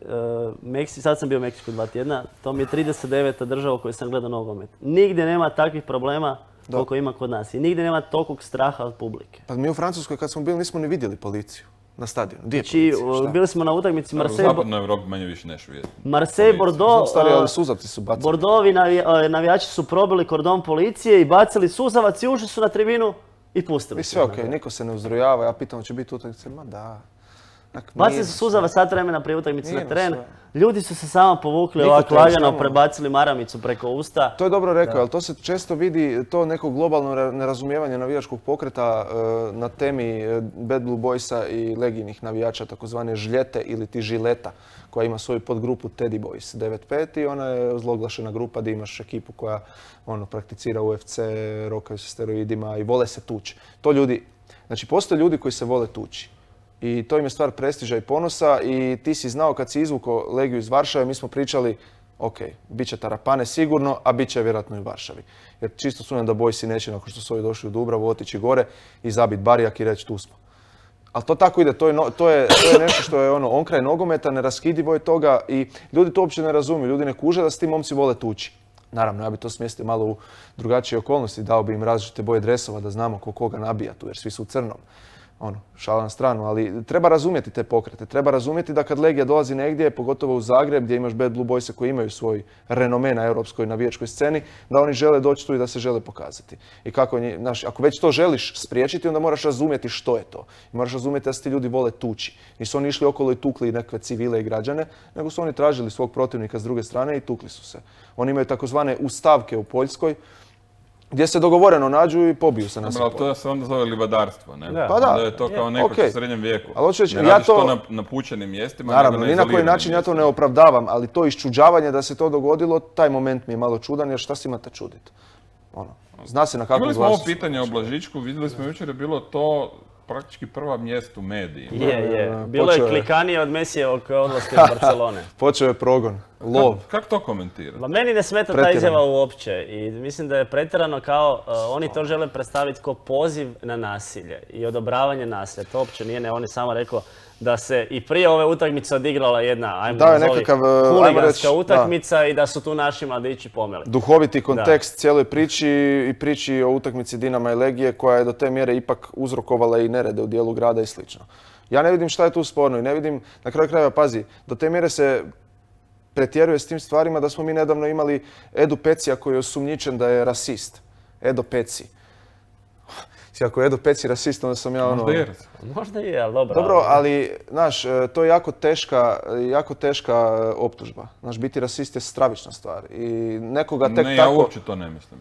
Meksi, sad sam bio u Meksiku dva tjedna, to mi je trideset deveta država u kojoj sam gledao nogomet. Nigdje nema takvih problema koliko ima kod nas i nigdje nema tolikog straha od publike. Pa mi u Francuskoj kad smo bili nismo ni vidjeli policiju na stadionu. Gdje je Znači, policija? Šta? bili smo na utakmici U Marseille, zapadnoj Evropi manje više neš vidjeti. Marseille Znam, Znam, Bordeaux, stari, ali uh, suzavci su bacili. Bordeauxovi navi- uh, navijači su probili kordon policije i bacili suzavac i ušli su na tribinu i pustili I su sve ih. okej, niko se ne uzrujava, ja pitam će biti utakmice, ma da. Onak, Bacili nije su nas suzavac sat vremena prije utakmice Nije na nas teren. sve. Ljudi su se samo povukli Niko ovako to lagano, samo- prebacili maramicu preko usta. To je dobro rekao, ali to se često vidi, to neko globalno ra- nerazumijevanje navijačkog pokreta e, na temi e, Bad Blue Boysa i legijnih navijača, takozvane žljete ili ti žileta, koja ima svoju podgrupu Teddy Boys devet pet i ona je ozloglašena grupa gdje imaš ekipu koja ono, prakticira U F C, rokaju se steroidima i vole se tući. To ljudi, znači postoje ljudi koji se vole tući. I to im je stvar prestiža i ponosa i ti si znao kad si izvukao Legiju iz Varšave, mi smo pričali ok, bit će tarapane sigurno, a bit će vjerojatno i u Varšavi. Jer čisto sumnjam da Bojsi neće, nakon što su ovi došli u Dubravu, otići gore i zabit barijak i reći tu smo. Ali to tako ide, to je, no- to je, to je nešto što je ono, onkraj nogometa, neraskidivo je toga i ljudi to uopće ne razumiju, ljudi ne kuže da se ti momci vole tući. Naravno, ja bi to smjestio malo u drugačije okolnosti, dao bi im različite boje dresova da znamo ko koga nabija tu, jer svi su u crnom. Ono, šala na stranu, ali treba razumjeti te pokrete. Treba razumjeti da kad Legija dolazi negdje, pogotovo u Zagreb gdje imaš Bad Blue Boyse koji imaju svoj renome na europskoj navijačkoj sceni, da oni žele doći tu i da se žele pokazati. I kako, nji- znaš, ako već to želiš spriječiti, onda moraš razumjeti što je to. I moraš razumjeti da se ti ljudi vole tući. Nisu oni išli okolo i tukli nekakve civile i građane, nego su oni tražili svog protivnika s druge strane i tukli su se. Oni imaju takozvane ustavke u Poljskoj, gdje se dogovoreno nađu i pobiju se na Dobro, ali to se onda zove libadarstvo, ne? Da. Pa da. Onda je to kao neko okej. u srednjem vijeku. Ali hoću reći, ne ja radiš to- to na, na pučenim mjestima, Naravno, nego na ni na koji izoliranim način ja to ne mjestima. opravdavam, ali to iščuđavanje da se to dogodilo, taj moment mi je malo čudan, jer šta se imate čuditi? Ono, zna se na kakvom Imali smo ovo glasu. pitanje o Blažičku, vidjeli smo jučer je bilo to praktički prva mjest u medijima. Je, je. da, Bilo počeo je je. klikanije od Mesijevog odlaska iz Barcelone. Počeo je progon. lov. Kako to komentirati? Ma meni ne smeta ta izjava uopće i mislim da je pretjerano kao uh, oni to žele predstaviti kao poziv na nasilje i odobravanje nasilja. To uopće nije, ne, on je samo rekao da se i prije ove utakmice odigrala jedna, ajmo da, nazvali, nekakav, huliganska reći, utakmica da. I da su tu naši mladići pomeli. Duhoviti kontekst da. Cijeloj priči i priči o utakmici Dinama i Legije koja je do te mjere ipak uzrokovala i nerede u dijelu grada i slično. Ja ne vidim šta je tu sporno i ne vidim, na kraju krajeva, pazi, do te mjere se pretjeruje s tim stvarima da smo mi nedavno imali Edu Pecija koji je osumnjičen da je rasist. Edo Peci. Ako je Edo Peci rasist, onda sam ja ono... Možda je. Možda je, ali dobro. Dobro, ali, znaš, to je jako teška, jako teška optužba. Znaš, biti rasist je stravična stvar. I nekoga tek tako... Ne, ja uopće to ne mislim.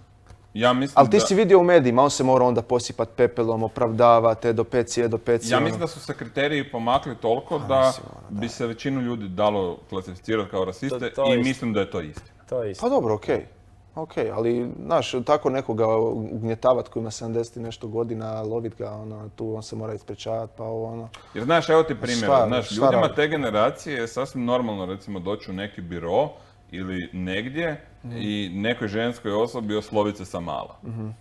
Ja mislim ali ti da... si vidio u medijima, on se mora onda posipati pepelom, opravdavati, Edo Peci, Edo Peci. Ja ono... mislim da su se kriteriji pomakli toliko da, da bi se većinu ljudi dalo klasificirati kao rasiste to, to i isti. Mislim da je to istina. To je istina. Pa dobro, okej. Okay. Ok, ali, znaš, tako nekoga ugnjetavati koji ima sedamdeset i nešto godina, lovit ga, ono, tu on se mora ispričavati, pa ovo, ono... Jer, znaš, evo ti primjer, znaš, ljudima te generacije je sasvim normalno, recimo, doći u neki biro ili negdje mm. i nekoj ženskoj osobi osloviti se sa mala. Mm-hmm.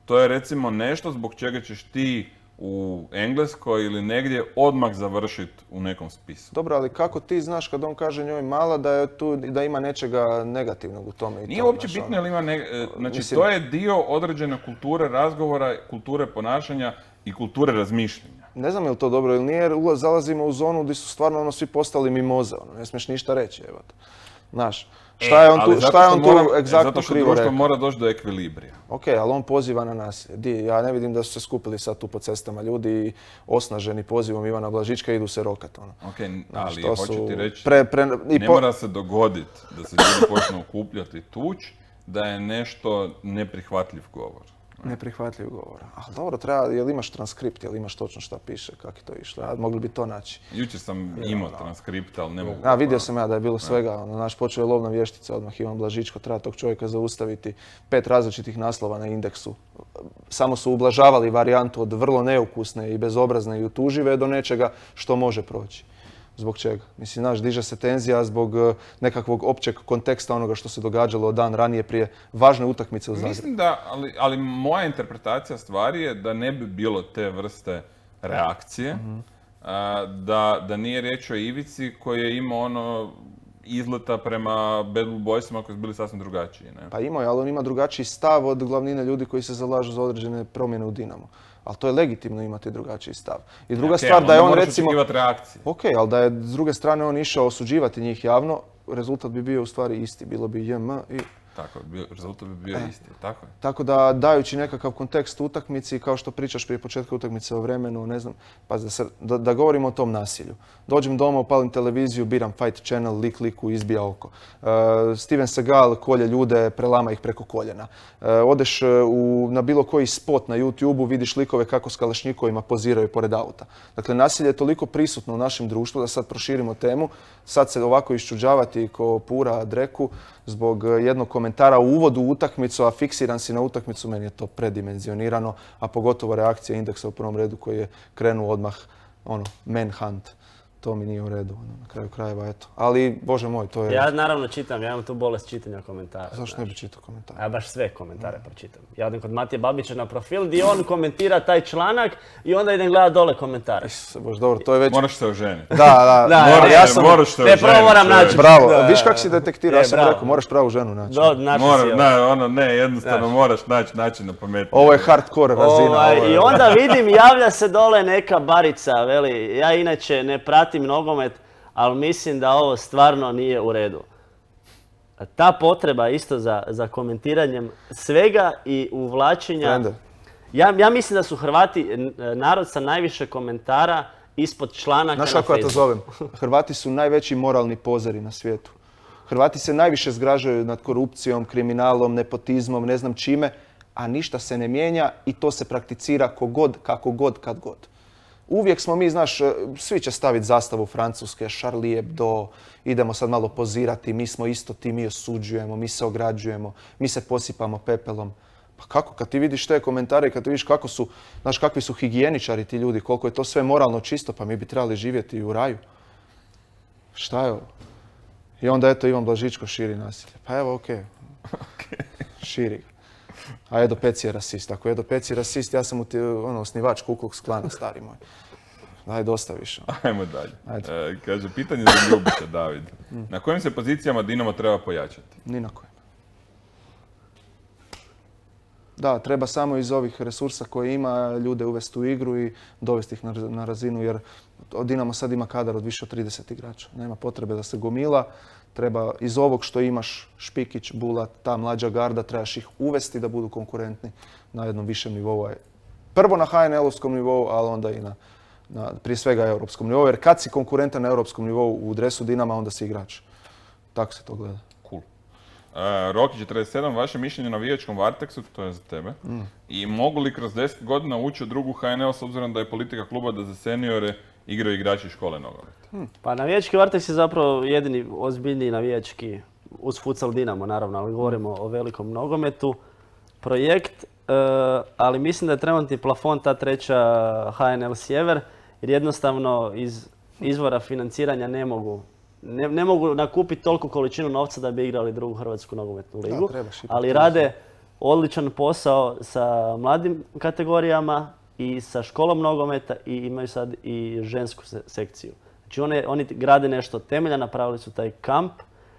To je, recimo, nešto zbog čega ćeš ti u Engleskoj ili negdje odmah završiti u nekom spisu. Dobro, ali kako ti znaš kad on kaže njoj mala da je tu, da ima nečega negativnog u tome? I Nije to, uopće znaš, bitno ono, ili ima ne... Znači, mislim... to je dio određene kulture razgovora, kulture ponašanja i kulture razmišljanja. Ne znam je li to dobro ili nije, jer zalazimo u zonu gdje su stvarno ono svi postali mimoze, ono, ne smiješ ništa reći, evo. Znaš, šta je on tu, šta je on tu egzaktno krivo rekao? Zato što društvo mora doći do ekvilibrija. Ok, ali on poziva na nasilje. Di, ja ne vidim da su se skupili sad tu po cestama ljudi osnaženi pozivom Ivana Blažička i idu se rokat. Ono. Ok, ali hoću su... ti reći, pre, pre, i ne po... mora se dogoditi da se ljudi počnu okupljati i tući, da je nešto neprihvatljiv govor. Neprihvatljiv govor. Ali dobro, treba, jel imaš transkript, jel imaš točno šta piše, kako je to išlo? Ja, mogli bi to naći. Jučer sam imao transkript, ali ne mogu... A, vidio sam ja da je bilo svega. Ono, naš počeo je lovna vještica, odmah Ivan Blažičko, treba tog čovjeka zaustaviti. Pet različitih naslova na indeksu. Samo su ublažavali varijantu od vrlo neukusne i bezobrazne i utužive do nečega što može proći. Zbog čega? Mislim, znaš, diže se tenzija zbog nekakvog općeg konteksta onoga što se događalo dan ranije prije važne utakmice u Zagrebu. Mislim da, ali, ali moja interpretacija stvari je da ne bi bilo te vrste reakcije, mm-hmm. a, da, da nije riječ o Ivici koji je imao ono izleta prema Bad Blue Boysima koji su bili sasvim drugačiji. Ne? Pa imao je, ali on ima drugačiji stav od glavnine ljudi koji se zalažu za određene promjene u Dinamo. Ali to je legitimno imati drugačiji stav. I druga okay, stvar da je on recimo... reakcije. Ok, ali da je s druge strane on išao osuđivati njih javno, rezultat bi bio u stvari isti. Bilo bi J M i... Tako, rezultat bi bio e. isti, tako je. Tako da, dajući nekakav kontekst utakmici, kao što pričaš prije početka utakmice o vremenu, ne znam, pa da, se, da, da govorimo o tom nasilju. Dođem doma, upalim televiziju, biram Fight Channel, lik liku, izbija oko. Uh, Steven Seagal kolje ljude, prelama ih preko koljena. Uh, odeš u, na bilo koji spot na YouTubeu, vidiš likove kako s kalašnjikovima poziraju pored auta. Dakle, nasilje je toliko prisutno u našem društvu da sad proširimo temu. Sad se ovako iščuđavati ko pura dreku zbog jednog komentara u uvodu u utakmicu, a fiksiran si na utakmicu, meni je to predimenzionirano, a pogotovo reakcija indeksa u prvom redu koji je krenuo odmah, ono, manhunt. To mi nije u redu, ono, na kraju krajeva, eto. Ali, Bože moj, to je... Ja naravno čitam, ja imam tu bolest čitanja komentara. Zašto znaš. Ne bi čitao komentare? Ja baš sve komentare mm. pročitam. Ja odem kod Matije Babića na profil gdje on komentira taj članak i onda idem gledati dole komentare. Isuse Bože, dobro, to je već... Moraš se oženiti. Da, da, da moraš, ja sam... moraš se oženiti. Ne, prvo moram naći. Bravo, da, viš kako si detektirao, ja sam bravo. rekao, moraš pravu ženu naći. Do, naći Mora, si, ne, ono, ne, jednostavno znaš. Moraš naći način na pametnije. Ovo je hardcore razina. Ovaj, ovo je... I onda vidim, javlja se dole neka barica, veli, ja inače ne pratim nogomet, ali mislim da ovo stvarno nije u redu. Ta potreba isto za, za komentiranjem svega i uvlačenja... Ja, ja mislim da su Hrvati narod sa najviše komentara ispod članaka na Facebooku. Znaš kako ja to zovem? Hrvati su najveći moralni pozeri na svijetu. Hrvati se najviše zgražaju nad korupcijom, kriminalom, nepotizmom, ne znam čime, a ništa se ne mijenja i to se prakticira kogod, kako god, kad god. Uvijek smo mi, znaš, svi će staviti zastavu Francuske, Charlie Hebdo, idemo sad malo pozirati, mi smo isto ti, mi osuđujemo, mi se ograđujemo, mi se posipamo pepelom. Pa kako, kad ti vidiš te komentare i kad ti vidiš kako su, znaš, kakvi su higijeničari ti ljudi, koliko je to sve moralno čisto, pa mi bi trebali živjeti u raju. Šta je ovo? I onda eto Ivan Blažičko širi nasilje. Pa evo, okej. Okay. Širi ga. A Edo Peci je rasist. Ako Edo Peci je rasist, ja sam ono, osnivač Ku Klux Klana, stari moj. Daj, dosta više. Ajmo dalje. E, kaže, pitanje za Ljubića, David. Na kojim se pozicijama Dinamo treba pojačati? Ni na kojim. Da, treba samo iz ovih resursa koje ima ljude uvesti u igru i dovesti ih na, na razinu, jer Dinamo sad ima kadar od više od trideset igrača. Nema potrebe da se gomila. Treba iz ovog što imaš, Špikić, Bulat, ta mlađa garda, trebaš ih uvesti da budu konkurentni na jednom višem nivou. Prvo na ha en el-ovskom nivou, ali onda i na, na prije svega europskom nivou. Jer kad si konkurentan na europskom nivou u dresu Dinama, onda si igrač. Tako se to gleda. Cool. Uh, Roki četrdeset sedam, vaše mišljenje o navijačkom Varteksu, to je za tebe. Mm. I mogu li kroz deset godina ući u drugu ha en el s obzirom da je politika kluba da za seniore igraju igrači škole nogometa? Hmm. Pa navijački Varteks je zapravo jedini ozbiljniji navijački, uz futsal Dinamo naravno, ali govorimo o velikom nogometu, projekt, uh, ali mislim da je trenutni plafon ta treća ha en el Sjever, jer jednostavno iz izvora financiranja ne mogu, ne, ne mogu nakupiti toliko količinu novca da bi igrali drugu hrvatsku nogometnu ligu, da, ali rade odličan posao sa mladim kategorijama i sa školom nogometa i imaju sad i žensku sekciju. Znači one, oni grade nešto temelja, napravili su taj kamp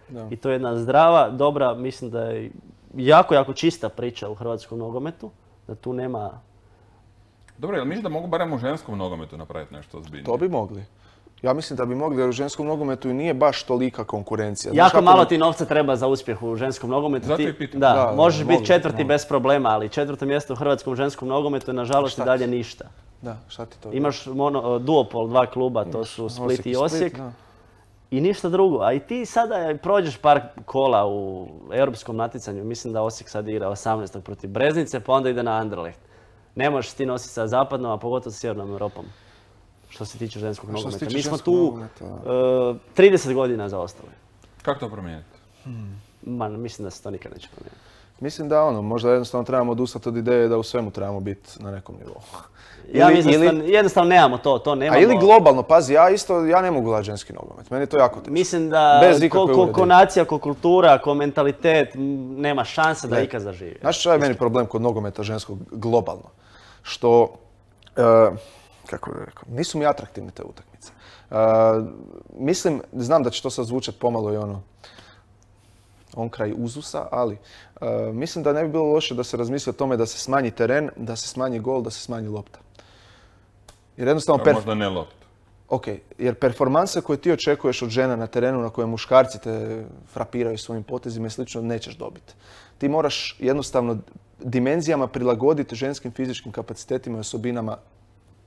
da. I to je jedna zdrava, dobra, mislim da je jako, jako čista priča u hrvatskom nogometu, da tu nema... Dobro, jel misliš da mogu barem u ženskom nogometu napraviti nešto ozbiljnije? To bi mogli. Ja mislim da bi mogli, jer u ženskom nogometu i nije baš tolika konkurencija. Jako Znaš, malo ti novca treba za uspjeh u ženskom nogometu. Zato ti, je pitam. Da, da, možeš biti četvrti mogu. bez problema, ali četvrto mjesto u hrvatskom ženskom nogometu je nažalost i dalje ništa. Da, šta ti to? Imaš mono, duopol, dva kluba, to su Split i Osijek. Split, i ništa drugo. A i ti sada prođeš par kola u europskom natjecanju. Mislim da Osijek sad igra osamnaestog protiv Breznice, pa onda ide na Anderlecht. Ne možeš ti nositi sa zapadnom, a pogotovo sa sjevernom Europom. Što se tiče ženskog nogometa. Mi smo tu uh, trideset godina zaostali. Kako to promijeniti? Hmm. Ma, mislim da se to nikad neće promijeniti. Mislim da ono, možda jednostavno trebamo odustati od ideje da u svemu trebamo biti na nekom nivou. Ja ili, mislim ili, da jednostavno nemamo to, to nemamo. A ili globalno, pazi, ja isto, ja ne mogu gledati ženski nogomet, meni je to jako teško. Mislim da ko, ko, ko nacija, ko kultura, ko mentalitet, nema šanse da ikad zaživi. Znaš što je meni problem kod nogometa ženskog globalno? Što, uh, kako bih rekao, nisu mi atraktivne te utakmice. Uh, mislim, znam da će to sad zvučati pomalo i ono, on kraj uzusa, ali uh, mislim da ne bi bilo loše da se razmisli o tome da se smanji teren, da se smanji gol, da se smanji lopta. Jer jednostavno... Perf... Možda ne lopta. Ok, jer performanse koje ti očekuješ od žena na terenu na koje muškarci te frapiraju svojim potezima i slično, nećeš dobiti. Ti moraš jednostavno dimenzijama prilagoditi ženskim fizičkim kapacitetima i osobinama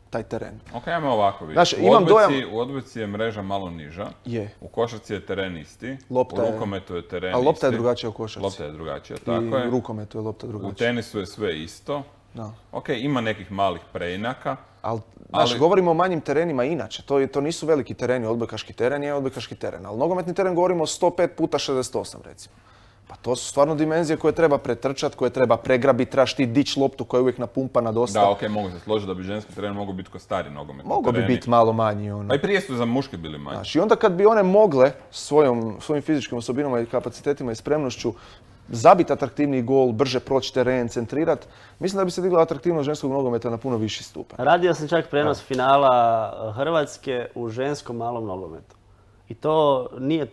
taj teren. Ok, ajmo ovako vidjeti. Znaš, u, imam odbojci, dojam... u odbojci je mreža malo niža, je. U košarci je teren isti, lopta u rukometu je teren isti. A lopta je drugačija u košarci. Lopta je drugačija, tako je. I u rukometu je lopta drugačija. U tenisu je sve isto. Da. Ok, ima nekih malih preinaka. Ali, znaš, ali... govorimo o manjim terenima inače. To, to nisu veliki tereni, odbojkaški teren je odbojkaški teren. Ali nogometni teren govorimo o sto pet puta šezdeset osam recimo. Pa to su stvarno dimenzije koje treba pretrčati, koje treba pregrabiti, trebaš ti dići loptu koja je uvijek napumpana dosta. Da, okej, okay, mogu se složiti da bi ženski teren mogao biti ko stari nogometni Mogu bi biti malo manji. Ono. Pa i prije su za muške bili manji. Znači, i onda kad bi one mogle svojom, svojim fizičkim osobinama i kapacitetima i spremnošću zabiti atraktivniji gol, brže proći teren, centrirati, mislim da bi se digla atraktivnost ženskog nogometa na puno viši stupanj. Radio sam čak prenos da. finala Hrvatske u ženskom malom nogometu. I to nije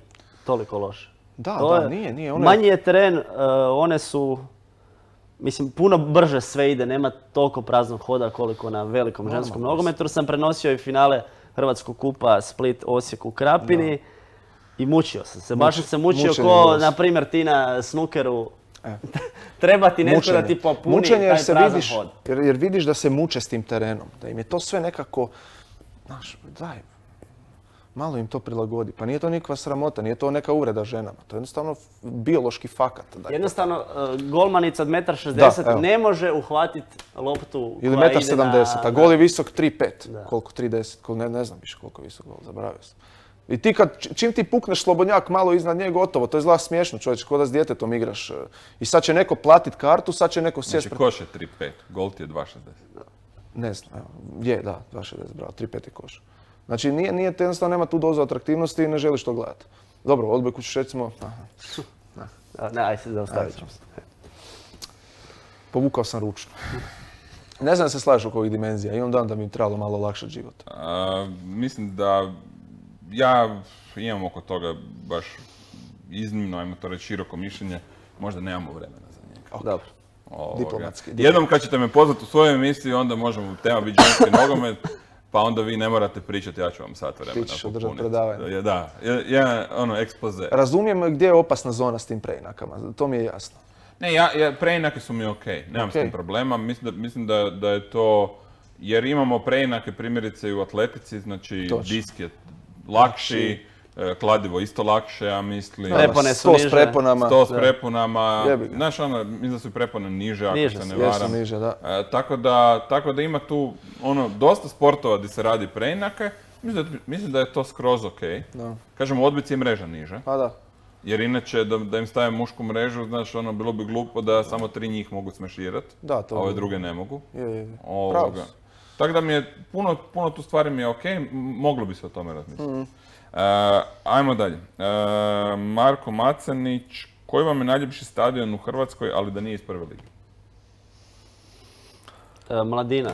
toliko loše. Da, to da, je, nije, nije. One... Manji je teren, uh, one su, mislim, puno brže sve ide, nema toliko praznog hoda koliko na velikom no, ženskom nogometu. Sam prenosio i finale Hrvatskog kupa Split, Osijek u Krapini da. I mučio sam se. Baš sam se mučio ko, na primjer, ti na snukeru. E. Treba ti netko da ti popuni Mučenje taj se prazan vidiš, hod. Jer, jer vidiš da se muče s tim terenom, da im je to sve nekako, znaš, daj, malo im to prilagodi. Pa nije to nikakva sramota, nije to neka uvreda ženama. To je jednostavno biološki fakat. Jednostavno, uh, golmanica od jedan šezdeset metra ne može uhvatiti loptu ili koja jedan sedamdeset ide na... A gol je visok tri pet. Koliko? tri deset? Ne, ne znam više koliko je visok gol, zaboravio sam. I ti kad, čim ti pukneš slobodnjak malo iznad nje, gotovo. To je zla smiješno, čovječe, ko da s djetetom igraš. I sad će neko platit kartu, sad će neko sjest... Znači, koš je tri pet, gol ti je dva šezdeset. Ne znam, evo, je, da, dva šezdeset, bravo, tri pet je koš. Znači, nije, nije, jednostavno nema tu dozu atraktivnosti i ne želiš to gledati. Dobro, odbojku ćeš recimo... Ne, aj se zaustavit ćemo se. Povukao sam ručno. Ne znam da se slažeš oko ovih dimenzija. Imam dan da mi je trebalo malo lakšati život. A, mislim da ja imam oko toga baš iznimno, ajmo to reći, široko mišljenje. Možda nemamo vremena za njega. Okay. Dobro. Ovoga. Diplomatski. Jednom kad ćete me pozvati u svoju emisiju, onda možemo tema biti ženski nogomet, pa onda vi ne morate pričati, ja ću vam sat vremena Ti ćeš održati popuniti. predavanje. Da, jedan ono ekspoze. Razumijem gdje je opasna zona s tim preinakama, to mi je jasno. Ne, ja, ja, preinake su mi okej, nemam Okej. s tim problema. Mislim, da, mislim da, da je to, jer imamo preinake primjerice i u atletici, znači Točno. disk je lakši, e, kladivo isto lakše, ja mislim. Prepone su Sto s niže. preponama. Sto s preponama, Jebi ga. znaš ono, mislim da su i prepone niže ako Niže se ne su, jesu varam. niže, da. E, tako, da, tako da ima tu ono, dosta sportova gdje se radi preinake, mislim da, mislim da je to skroz okej. Da. Kažem, u odbojci je mreža niže. Pa da. Jer inače, da, da im stavim mušku mrežu, znaš, ono, bilo bi glupo da samo tri njih mogu smeširat, Da, to a ove bi- druge ne mogu. Je, je, je. Ovoga. Pravo si. Tako da mi je, puno, puno tu stvari mi je okej, m- moglo bi se o tome razmisliti. Mhm. E, ajmo dalje. E, Marko Macenić, koji vam je najljepši stadion u Hrvatskoj, ali da nije iz prve lige? E, Mladina,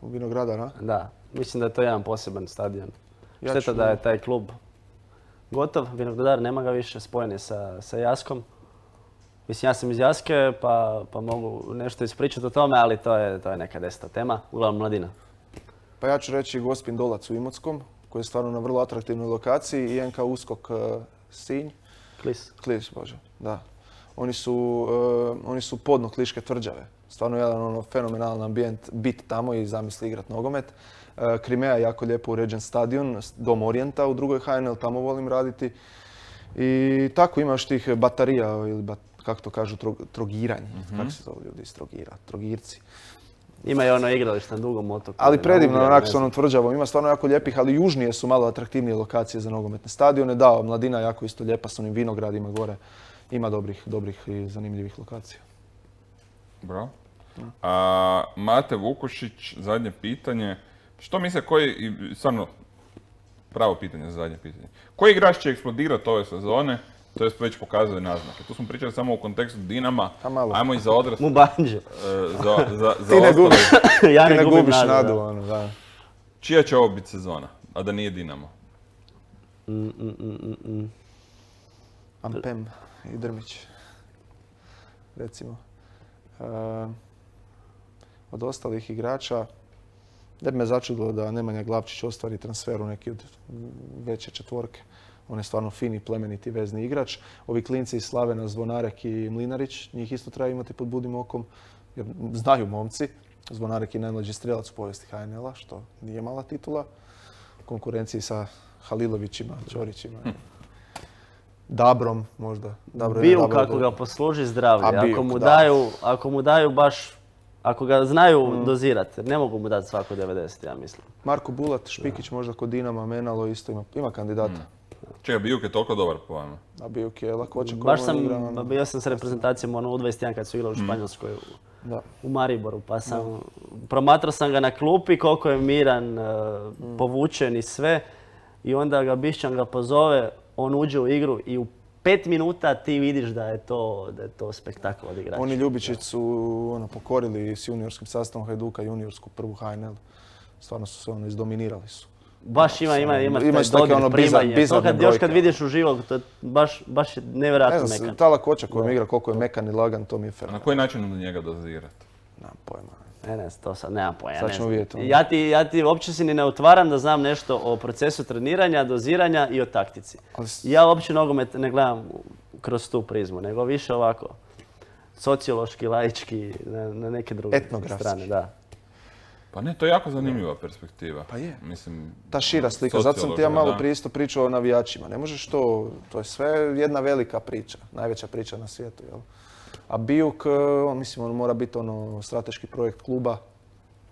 U Vinogradar, a? da. Mislim da je to jedan poseban stadion. Ja Šteta ću- da je taj klub gotov, Vinogradar nema ga više, spojen je sa, sa Jaskom. Mislim, ja sam iz Jaske, pa, pa mogu nešto ispričati o tome, ali to je, to je neka deseta tema. Uglavnom, Mladina. Pa ja ću reći Gospin Dolac u Imotskom, koji je stvarno na vrlo atraktivnoj lokaciji, i N K Uskok uh, Sinj. Klis. Klis, bože, da. Oni su, uh, oni su podno Kliške tvrđave. Stvarno jedan ono fenomenalan ambijent, bit tamo i zamisli igrat nogomet. Uh, Krimeja je jako lijepo uređen stadion, Dom Orijenta u drugoj H N L, tamo volim raditi. I tako imaš tih batarija, ili bat, kako to kažu, trog, trogiranje. Kako se zove ljudi iz Trogira? Trogirci. Ima i ono igralište na Dugom otoku. Ali na predivno, Ugljanu, onako ne s onom znam. tvrđavom. Ima stvarno jako lijepih, ali južnije su malo atraktivnije lokacije za nogometne stadione. Da, Mladina je jako isto lijepa s onim vinogradima gore. Ima dobrih, dobrih i zanimljivih lokacija. Bravo. A, Mate Vukušić, zadnje pitanje. Što misle koji, i stvarno, pravo pitanje za zadnje pitanje. Koji igrač će eksplodirati ove sezone? To jest već pokazuje naznake. Tu smo pričali samo u kontekstu Dinama, A malo. ajmo i za odrasle. Mubanđe. e, za, za, za Ti ne ostale. gubiš, ja ti ne ne gubim gubiš nadu, nadu, da. ono, da. Čija će ovo biti sezona, a da nije Dinamo? Mm, mm, mm, mm, mm. Ampem i Drmić, recimo. E, od ostalih igrača, ne bi me začudilo da Nemanja Glavčić ostvari transfer u neki od veće četvorke. On je stvarno fini, plemeniti vezni igrač. Ovi klinci iz Slavena, Zvonarek i Mlinarić, njih isto treba imati pod budnim okom, jer znaju momci. Zvonarek je najmlađi strelac u povijesti H N L-a, što nije mala titula. U konkurenciji sa Halilovićima, Ćorićima. Dabrom možda. Dabro je Bijuk Dabro kako dobro. ga posluži zdravlje. A Ako Bijuk, mu da. daju, ako mu daju baš, ako ga znaju Mm. dozirati, ne mogu mu dati svako devedeset, ja mislim. Marko Bulat, Špikić možda kod Dinama, Menalo isto ima, ima kandidata. Čega, Bijuk je toliko dobar po vama. A Bijuk je lakoća koju Baš on sam, igra, ono. bio sam s reprezentacijom ono, u dvadeset jedan kad su igrali u Španjolskoj, u, Da. u Mariboru, pa sam, promatrao sam ga na klupi koliko je miran, e, povučen i sve. I onda ga Bišćan ga pozove, on uđe u igru i u pet minuta ti vidiš da je to, da je to spektakl od igrača. Oni Ljubičić su ono, pokorili s juniorskim sastavom Hajduka juniorsku prvu H N L. Stvarno su se ono, izdominirali su. Baš ima, ima, ima, Ima taj isto take dodir, ono bizar- primanje. To bizarne kad, još kad brojke. vidiš uživo, to je baš, baš je Ne nevjerojatno znam, mekan. ta lakoća kojom igra, koliko je mekan i lagan, to mi je A na fenomenalno. koji način onda njega dozirati? Nemam pojma. Ne, ne, to sad nemam pojma. Sad ne ćemo znam. vidjeti ono. Ja ti, ja ti uopće si ni ne otvaram da znam nešto o procesu treniranja, doziranja i o taktici. Ali s- Ja uopće nogomet ne gledam kroz tu prizmu, nego više ovako sociološki, laički, na, na neke druge Etnografski. strane. Da. Pa ne, to je jako zanimljiva perspektiva. Pa je. Mislim, Ta šira slika, zato sam ti ja sociološka, malo da. prije isto pričao o navijačima. Ne možeš to, to je sve jedna velika priča, najveća priča na svijetu, jel? A Bijuk, on, mislim, on mora biti ono strateški projekt kluba,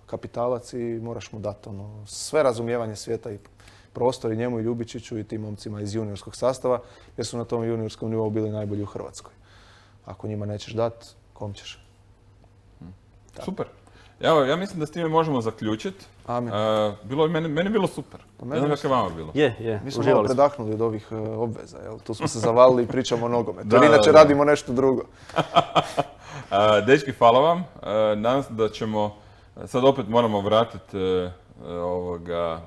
kapitalac i moraš mu dati ono sve razumijevanje svijeta i prostor i njemu i Ljubičiću i tim momcima iz juniorskog sastava, jer su na tom juniorskom nivou bili najbolji u Hrvatskoj. Ako njima nećeš dati, kom ćeš? Super. Evo, ja mislim da s time možemo zaključiti. Amin. E, bilo je, meni, meni je bilo super. Ne znam kako je vama bilo. Je, je, Mi smo malo uživali smo. predahnuli od ovih uh, obveza, jel? Tu smo se zavalili i pričamo o nogometu. Da, Jer inače da, da. radimo nešto drugo. E, dečki, hvala vam. E, nadam se da ćemo, sad opet moramo vratiti e, ovoga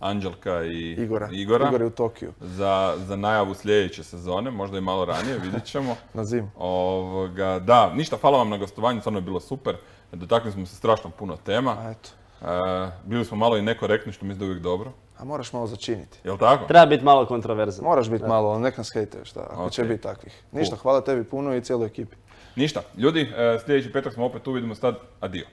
Anđelka i Igora. Igora Igor je u Tokiju. za, za najavu sljedeće sezone, možda i malo ranije, vidjet ćemo. Na zimu. Ovoga, da, ništa, hvala vam na gostovanju, stvarno je bilo super. Dotakli smo se strašno puno tema. A eto. E, bili smo malo i nekorektni, što mislim da je uvijek dobro. A moraš malo začiniti. Jel' tako? Treba biti malo kontroverzan. Moraš biti malo, nek nas hejtuješ, šta, ako će Ok. biti takvih. Ništa, hvala tebi puno i cijeloj ekipi. Ništa. Ljudi, e, sljedeći petak smo opet tu, vidimo sad. Adio.